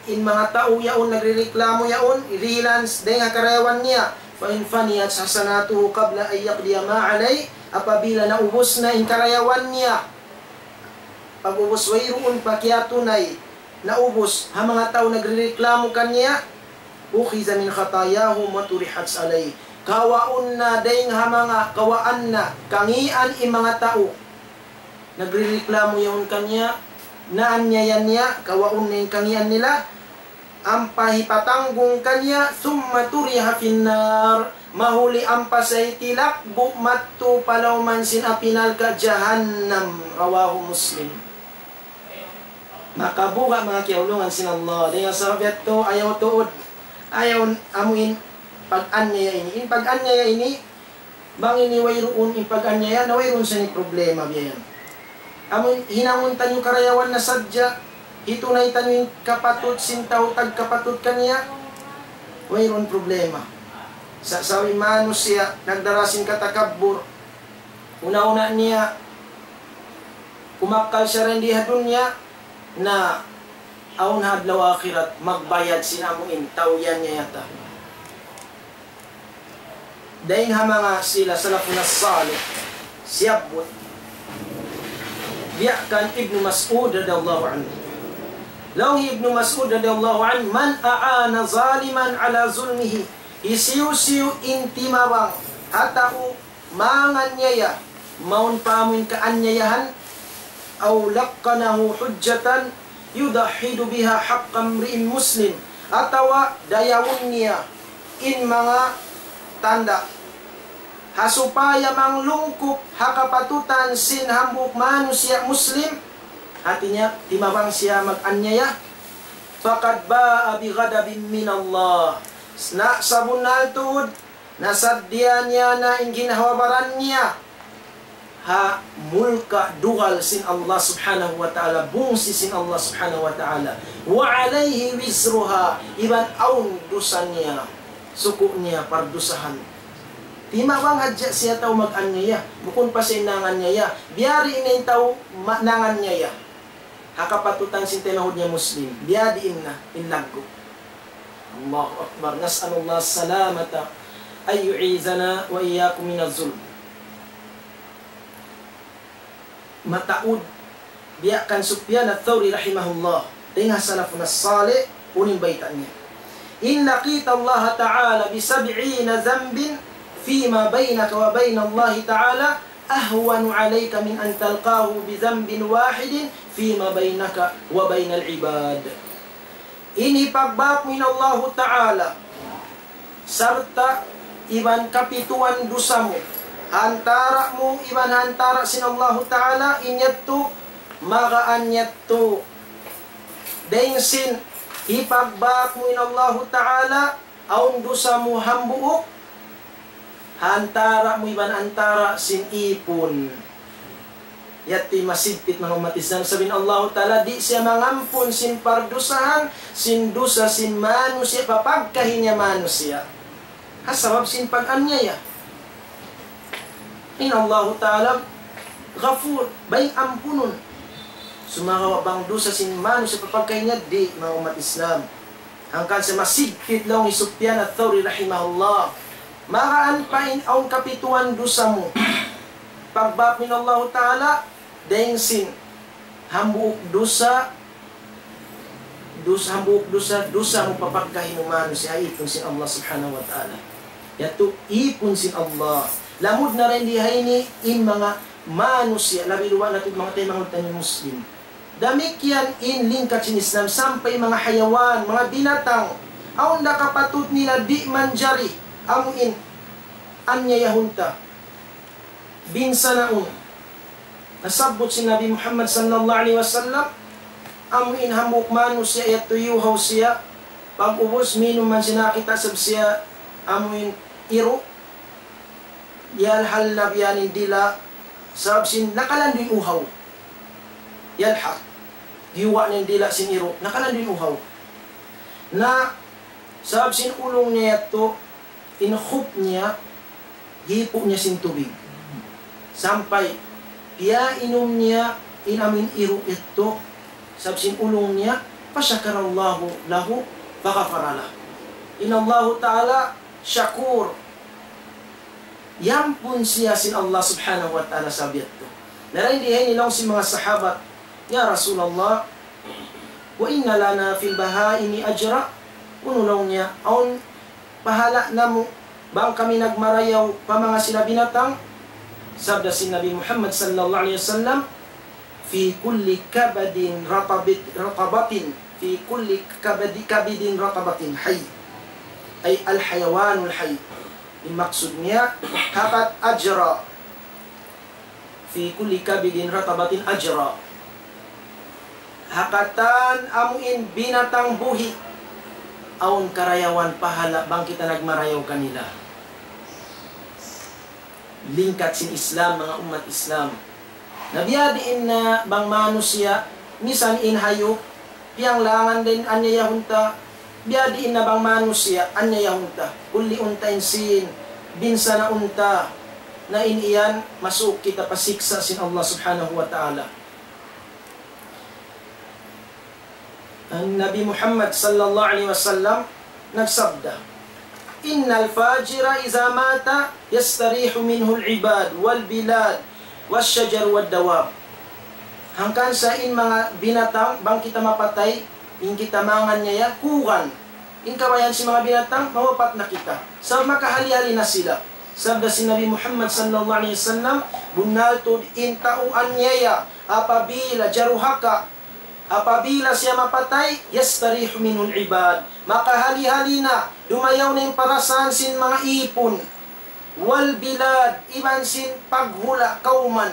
in manga tau yaun nagrereklamo yaun, hirihilan s-, dayn ha karayawan niya. فإن فنيت حسناته قبل أن يقضي ما عليه, apabila naubus na in karayawan niya, pag'ubus wayruun pa kiyatunay, naubus ha manga tau nagrereklamo kaniya, أخذ من خطاياهم وطرحت عليه. Kawaun na dayn ha manga kawaan na, kangīan in manga tau nagrereklamo yaun kaniya, naanyaya niya, kawaun na in kangīan nila, ampa hipatanggung kaniya, ثم طرح في النار, mahuli ampa siya hitilakbu' madtu pa lawm sin api narka' jahannam. رواه مسلم. Makabuga' manga kiyaulungan sin Allah. Dayn ha sabab yadtu ayaw tuud, ayaw amuin pag-anyaya ini. In pag-anyaya ini, bang ini wayruun in pag-anyaya, na wayruun sa ini problema biya' yan. Amuin hinangun taniyu karayawan na sadja, hitunay taniyu in kapatut sin tau tagkapatut kaniya, wayruun problema. Sa' sabab in manusiya' nagdara sin katakabbur, una-una niya kumakkal siya dayn di ha dunya, na awn ha adlaw akhirat magbayad sin amuin tau yan niya yata. Dayn ha manga sila salafun as-salih, siyabbut biya' kan Ibnu Mas'ud radiyallahu anhu. Laung hi Ibnu Mas'ud radiyallahu anhu, من أعان ظالما على ظلمه, hisiyu-siyu in timabang ha tau manganyaya, mawn pa amuin kaanyayahan, أو لقنه حجة يدحض بها حق امرئ مسلم, atawa dayawun niya in manga tanda' ha supaya manglungkup ha kapatutan sin hambuuk manusiya' Muslim, hati niya, timabang siya mag-anyaya, فقد باء بغضب من الله. Na sabunnal tuud, nasaddiya niya na in ginhawa-baran niya ha mulka' dugal sin Allah Subhanahu wa Ta'ala, bungsi sin Allah Subhanahu wa Ta'ala. وعليه وزرها, iban awn dusa niya, suku' niya pardusahan. Timabang hadja siya tau mag-anyaya, bukun pa siya in nanganyaya. Biyadiin na in tau ma-, nanganyaya ha kapatutan sin taymanghud niya Muslim, biyadiin na in laggu'. Allahu Akbar. نسأل الله السلامة أن يعيذنا وإياكم من الظلم. Mataud biya' kan Sufyan Ath-Thawri rahimahullah, dayn ha salafun as-salih, unu in bayta' niya: إن لقيت الله تعالى بسبعين ذنبا فيما بينك وبين الله تعالى أهون عليك من أن تلقاه بذنب واحد فيما بينك وبين العباد. In hipagbāku in Allahu Ta'ala sarta' iban kapituan dusa mu, Antara' mu iban antara' sin Allahu Ta'ala, in yadtu, magaan yadtu. Dayng sin, hipagbak mu in Allahu Ta'ala, awn dusa mu hambuuk, antara' mu iban antara' sin ipun. Yadtu in masigpit, manga ummat Islam, sabab in Allahu Ta'ala di' siya mangampun sin pardusahan, sin dusa sin manusiya', pa pagkahi niya manusiya'. Ha sabab sin pag-anyaya. In Allahu Ta'ala Ghafur, bay ampunun. Sumagawa' bang dusa sin manusiya' pa pagkahi niya, di', manga ummat Islam. Hangkan sa masigpit laung hi Sufyan Ath-Thawri rahimahullah. Magaan pa in awn kapituan dusa mu. Pagbak mu in Allahu Ta'ala, dayng sin hambuuk dusa, dusa, hambuuk dusa, dusa mu pa pagkahi mu manusiya', ipun sin Allah Subhanahu wa Ta'ala. Yadtu ipun sin Allah. Lamud na dayn di ha ini in manga manusiya', labi luba' na tuud manga taymanghud taniyu Muslim. Damikkiyan in lingkat sin Islam sampay manga hayawan, manga binatang. Awn da kapatut nila di' manjari, amu in anyayahun ta, binsanaun. Nasabbut sin Nabi Muhammad sallallahu alayhi wasallam, amu in hambuuk manusiya' yadtu iyuhaw siya, pag-ubus minum man sin nakakita' isab siya, amu in iru', yalhal na biya' ini in dila', sabab sin nakalandu' in uhaw. Yalhal. Giyuwa' na in dila' sin iru', nakalandu' in uhaw. Na, sabab sin ulung niya yadtu, in khuf niya, hipu' niya sin tubig. Sampay, piyainum niya in amu in iru' yadtu, sabab sin ulung niya, فشكر الله له فغفر له. In Allahu Ta'ala, shakur. Yampun siya sin Allah Subhanahu wa Ta'ala sabab yadtu. Na dayn di ha ini laung sin manga sahabat, "Ya Rasulullah, وإن لنا في البهائم أجرا؟" Unu laung niya, awn pahala' namu' bang kami nagmarayaw pa manga sila binatang? Sabda sin Nabi Muhammad sallallahu alayhi wasallam, في كل كبد رطبة، رطبة، في كل كبد، كبد رطبة حي. أي الحيوان الحي. In maksud niya, hakat ajra. في كل كبد رطبة أجرا. Ha katan amu in binatang buhi', awn karayawan pahala' bang kita nagmarayaw kanila. Lingkat sin Islam, manga ummat Islam. Na biya' diin na bang manusiya', misan in hayup, piyanglangan da in anyayahun ta, biya' diin na bang manusiya', anyayahun ta, kulliun ta in sīn, binsanaun ta, na in yan, masuuk kita pa siksa' sin Allah Subhanahu wa Ta'ala. An Nabi Muhammad sallallahu alayhi wasallam nagsabda, إن الفاجر إذا مات يستريح منه العباد والبلاد والشجر والدواب. Hangkan sa in manga binatang, bang kita mapatay, in kita manganiyaya, kuran. In kabayaan sin manga binatang, mawapat na kita. Sabab makahali-hali na sila. Sabda sin Nabi Muhammad sallallahu alayhi wasallam, bunnal tuud in tau aniyaya, apabila jaruhaka, apabila siya mapatay, يستريح منه العباد. Makahali-hali na, dumayaw na in parasaan sin manga īpun. والبلاد, iban sin paghula' kawman.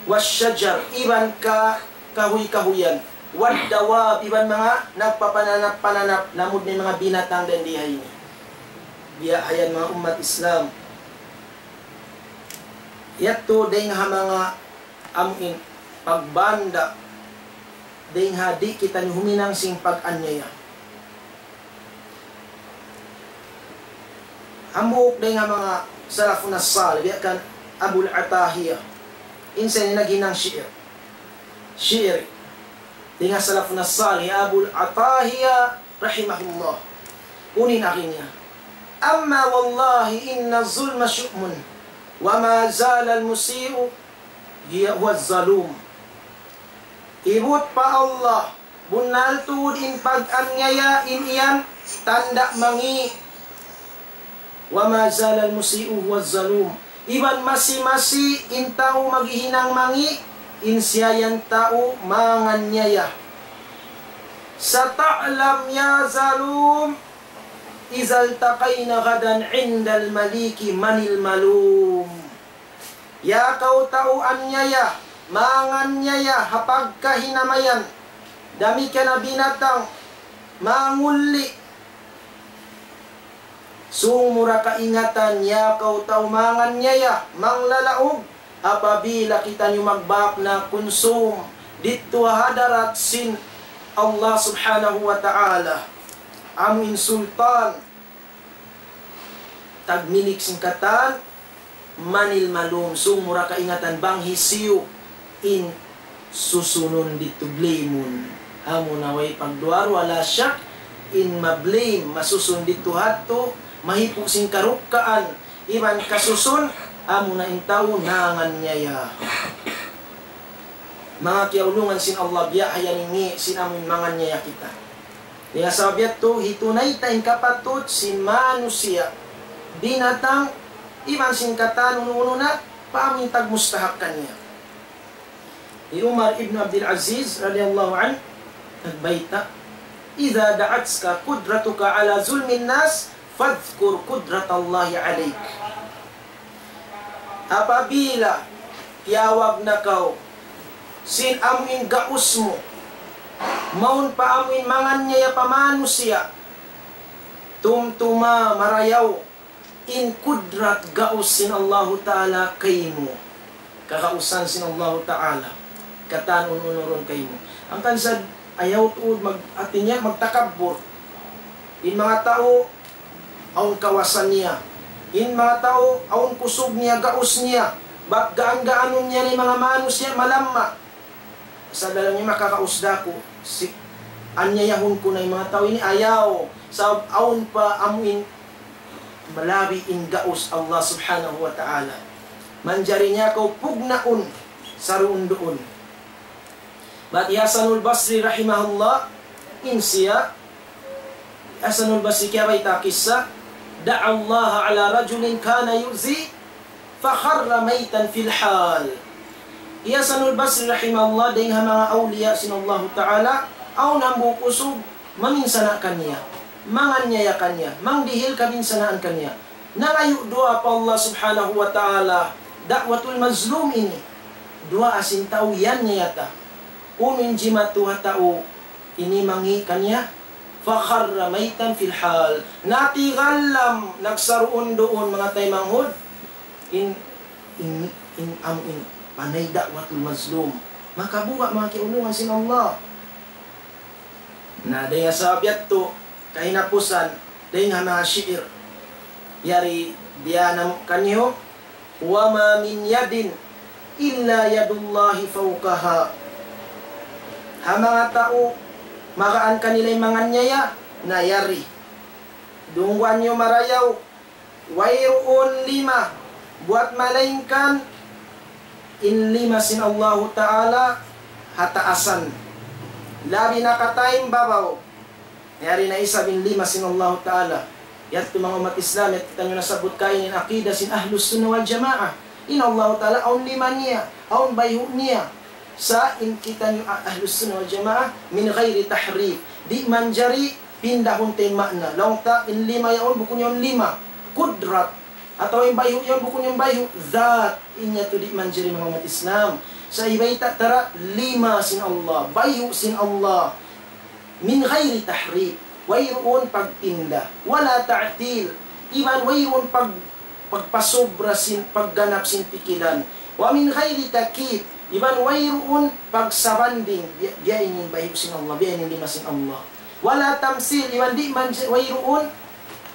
والشجر, iban ka-, kahuy-kahuyan. والدواب, iban manga nagpapananap-pananap, lamud na in manga binatang dayn di ha ini. Biya' ha yan manga ummat Islam. Yadtu dayn ha manga amu in pagbanda', dayn ha di' kitaniyu huminang sin pag-anyaya. Hambuuk dayn ha manga salafun as-salih, biya' kan Abul Atahiya. In siya ini naghinang shi'ir. Shi'ir. Dayn ha salafun as-salih, Abul Atahiya rahimahullah. Unu in agi niya: أما والله إن الظلم شؤم، وما زال المسيء هو الظلوم. Ibut pa Allah, bunnal tuud in pag-anyaya in yan tanda' mangi'. وما زال المسيء هو الظلوم. Iban masi-masi in tau maghihinang mangi', in siya yan tau manganyaya. ستعلم يا ظلوم إذا التقينا غدا عند المليك من الملوم. Ya kaw tau anyaya, mangannyaya ha pagkahinamayan, damikkiyan na binatang, mangulli. Sung mu ra kaingatan, ya kaw tau mangannyaya, manglalaug, apabila kitaniyu magbak na kunsum didtu ha hadarat sin Allah Subhanahu wa Ta'ala, amu in sultan, tagmilik sin katan, من الملوم, sung mu ra kaingatan bang hisiyu in susunun didtu, blame-un. Amuna way pagduwa-ruwa, la shak, in ma-blame, masusun didtu hadtu, mahipu' sin karukkaan, iban kasusun, amuna in tau nangannyaya. Manga kiyaulungan sin Allah, biya' ha yan in ngi' sin amun mangannyaya kita. Dayn ha sabab yadtu, hitunay ta in kapatut sin manusiya', binatang, iban sin katan unu-unu na, pa amun tagmustahak kaniya. Hi Umar ibn Abdul Aziz radiyallahu anhu, nagbayta', إذا دعتك قدرتك على ظلم الناس فاذكر قدرة الله عليك. Apabila tiyawag na kaw sin amu in gaus mu, mawn pa amu in mangannyaya pa manusiya', tumtuma marayaw in kudrat gaus sin Allahu Ta'ala kaymu. Kagausan sin Allahu Ta'ala. Katan unu-unu duun kaymu. Hangkan sa ayaw tuud mag-, hati niya, magtakabbur. In manga tau, awn kawasa niya. In manga tau, awn kusug niya, gaus niya. Bat gaan-gaanun niya na in manga manusiya', malamma. Sa' dalam niya makakaus da aku, si-, anyayahun ku na in manga tau ini, ayaw. Sabab awn pa amu in malabi in gaus Allah Subhanahu wa Ta'ala. Manjari niya kaw pugnaun saruun-duun. Bat hi Hasanul Basri rahimahullah, in siya, Hasanul Basri kiyabayta' kissa, دعا الله على رجل كان يؤذي فخر ميتا في الحال. Hi Hasanul Basri rahimahullah, dayn ha manga awliya sin Allahu Ta'ala, awn hambuuk usug, maminsana' kaniya, mangannyaya kaniya, mangdihil kabinsanaan kaniya. Nangayu' duwaa pa Allah Subhanahu wa Ta'ala, da'watul mazlum ini. Duwaa sin tau yan niya ta. Unu in jimatu ha tau ini mangi' kaniya? فخر ميتا في الحال. Natigalam, nagsaruun-duun manga taymanghud. In, in, in, amu in, panay da'watul mazlum. Makabuga' manga kiyaulungan sin Allah. Na, dayn ha sabab yadtu, kahinapusan, dayn ha manga shi'ir. Yari, biya' na kaniyu, وما من يد إلا يد الله فوقها. Ha manga tau, magaan kanila in mangannyaya, na yari. Dungguan niyu marayaw, wayruun lima, buwat malaingkan in lima sin Allahu Ta'ala ha taasan. Labi na katan babaw. Yari na isab in lima sin Allahu Ta'ala. Yadtu manga ummat Islam, yadtu kitaniyu nasabbut kaina in aqida sin Ahlus Sunnah wal Jamaah. In Allahu Ta'ala, awn lima niya, awn bayhu' niya. Sa' in kitaniyu a-, Ahlus Sunnah wal Jamaah, من غير تحريف. Di' manjari pindahun ta in ma'na. Laung ta in lima yaun, bukun yaun lima. Kudrat. Atawa in bayhu' yaun, bukun yaun bayhu'. Dhat. In yadtu di' manjari manga ummat Islam. Sa' hibayta' ta ra lima sin Allah. Bayhu' sin Allah. من غير تحريف, wayruun pagpinda, ولا تعطيل, iban wayruun pag-, pagpasubra sin pagganap sin pikilan, ومن غير تكييف, iban wayruun pagsabanding, biya', biya' ini in bayhu' sin Allah, biya' ini in lima sin Allah, ولا تمثيل, iban di' man, wayruun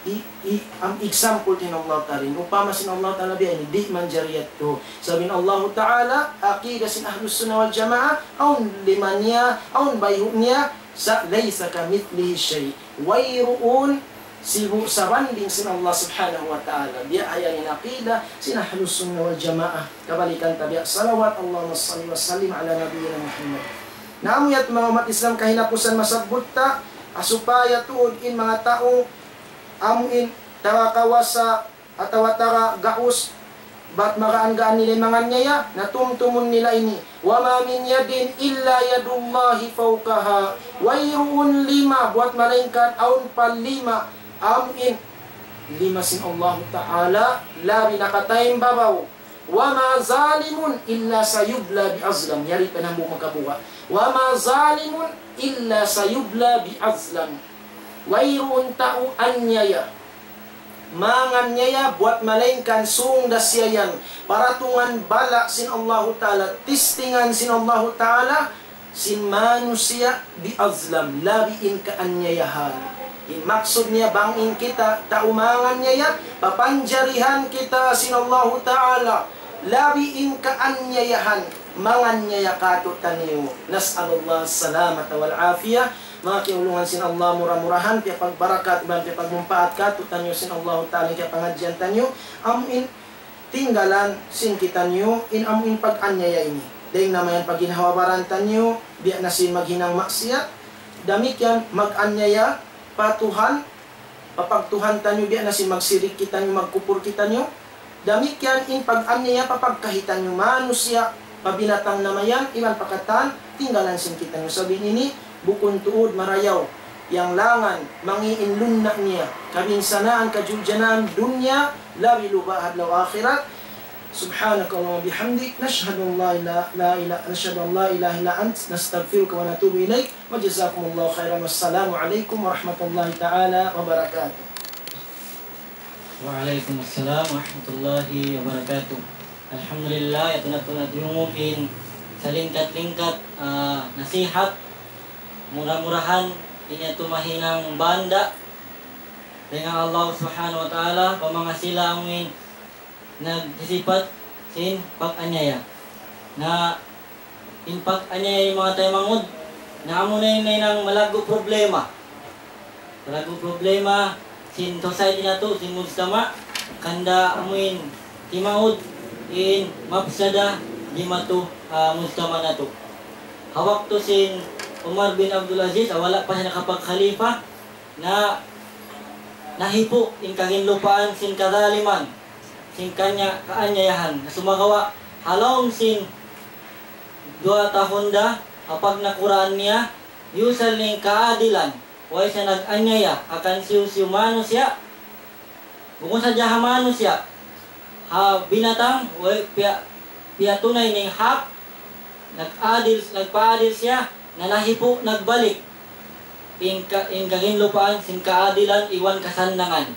i-, i-, am example sin Allah Ta'ala. Upama sin Allah Ta'ala biya' ini, di' manjari yadtu. Sabab in Allah Ta'ala, aqida sin Ahlus Sunnah wal Jamaah, awn lima niya, awn bayhu' niya, sa' ليس كمثله شيء. Wayruun sibu' sabanding sin Allah Subhanahu wa Ta'ala. Biya' ha yan in aqida sin Ahlus Sunnah wal Jamaah. Kabalikan ta biya' salawat, اللهم صل وسلم على نبينا محمد. Na amu yadtu manga ummat Islam kahinapusan masabbut ta, ha supaya tuud in manga tau amu in taga kawasa atawa taga gaus, bat magaan-gaan nila in mangannyaya, na tumtumun nila ini. وما من يد إلا يد الله فوقها. Wayruun lima, buwat malaingkan awn pa lima Amu in lima sin Allahu Ta'ala, labi nakataymbabaw. وما ظالم إلا سيبلى بأظلم. Yari pa in hambuuk makabuga'. وما ظالم إلا سيبلى بأظلم. Wayruun tau anyaya, manganyaya buwat malaingkan sūng da siya yan paratungan bala' sin Allahu Ta'ala, tistingan sin Allahu Ta'ala, sin manusiya' بأظلم, labi in kaanyayahan. In maksud niya bang in kita tau manganyaya, papanjarihan kita sin Allahu Ta'ala, labi in kaanyayahan, manganyaya kātu'niyu. نسأل الله السلامة والعافية. Manga kiyaulungan sin Allah, mura-murahan piyapagbarakat iban piyapagmumpaat kātu'niyu sin Allahu Ta'ala in kiyapangadjian taniyu. Amu in tinggalan sin kitaniyu in amu in pag-anyaya ini. Dayng na mayan pa ginhawa-baran taniyu, biya' na sin maghinang maksiyat. Damikkiyan mag-anyaya pa Tuhan, pa pagtuhan taniyu, biya' na sin magsirik kitaniyu, magkupur kitaniyu. Damikkiyan in pag-anyaya pa pagkahi taniyu, manusiya', pa binatang na mayan, iban pa katan, tinggalan sin kitaniyu. Sabab ini, bukun tuud marayaw, yang langan, mangi' in lunna' niya, kabinsanaan, kajuljanaan, dunya, labi luba' ha adlaw akhirat. سبحانك اللهم وبحمدك، نشهد أن لا إله، لا إله، نشهد أن لا إله إلا أنت، نستغفرك ونتوب إليك، وجزاكم الله خيرا، والسلام عليكم ورحمة الله تعالى وبركاته. وعليكم السلام ورحمة الله وبركاته. Alhamdulillah, yadtu na tuud in salingkat-lingkat, ah, nasihat. Mura-murahan, in yadtu mahinang banda dayn ha Allah Subhanahu wa Ta'ala, pa manga sila amuin nagsisipat sin pag-anyaya. Na in pag-anyaya, manga taymanghud, na amuna in hinang malaggu' problema. Malaggu' problema sin society natu', sin mujtama', hangkan amuin timaud in mafsada dimatu ha mujtama' natu'. Ha waktu sin Umar bin Abdul Aziz, ha wala' pa siya nakapagkhalifa, na nahipu' in kaginlupaan sin kazaliman, sin kanya kaanyayahan. Na sumagawa', ha lawm sin duwa tahun da, ha pagnakuraan niya, yusal in kaadilan, way siya nag-anyaya ha kansiyu-siyu manusiya', bukun sadja ha manusiya', ha binatang, way piya-, piyatunay niya in hak, nag-adil, nagpaadil siya, na nahipu', nagbalik in ka-, in kaginlupaan sin kaadilan iban kasannangan.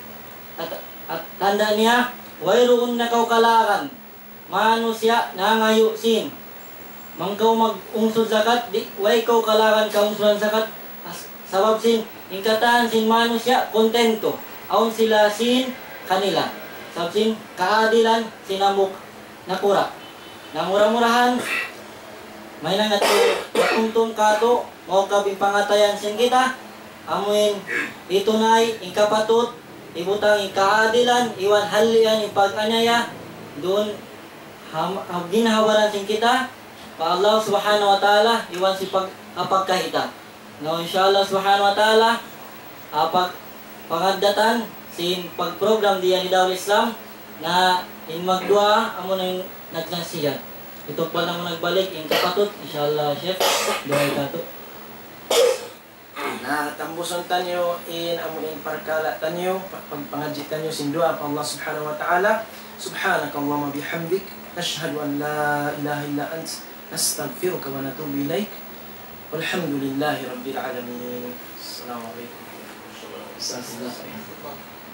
At, at tanda' niya, wayruun na kaw kalaran manusiya' nangayu' sin. Bang kaw mag-ungsud zakat, di', way kaw kalaran kaungsudan zakat, as-, sabab sin, in katan sin manusiya' kontento, awn sila sin kanila. Sabab sin kaadilan sin hambuuk nakura'. Na mura-murahan, mahinang yadtu matuntung kātu', maugkap in pangatayan sin kita, amuin hitunay in kapatut, hibutang in kaadilan, iban hallian in pag-anyaya, duun ha, ha ginhawa-baran sin kita, pa Allah Subhanahu wa Ta'ala, iban sin pag-, ha pagkahi ta. Na, insha Allah Subhanahu wa Ta'ala, ha pag-, pangaddatan sin pag-program di ha Darul Islam, na in magduwaa, amuna in nagnasihat. Itukbal namu' nagbalik, in kapatut, insha Allah, Sheikh, duwaa kātu'. Na, tambusun taniyu in amu in parkala' taniyu, pa-, pagpangadji' taniyu sin duwaa pa Allah Subhanahu wa Ta'ala. سبحانك اللهم وبحمدك، نشهد أن لا إله إلا أنت، نستغفرك ونتوب إليك. والحمد لله رب العالمين. السلام عليكم ورحمة الله وبركاته.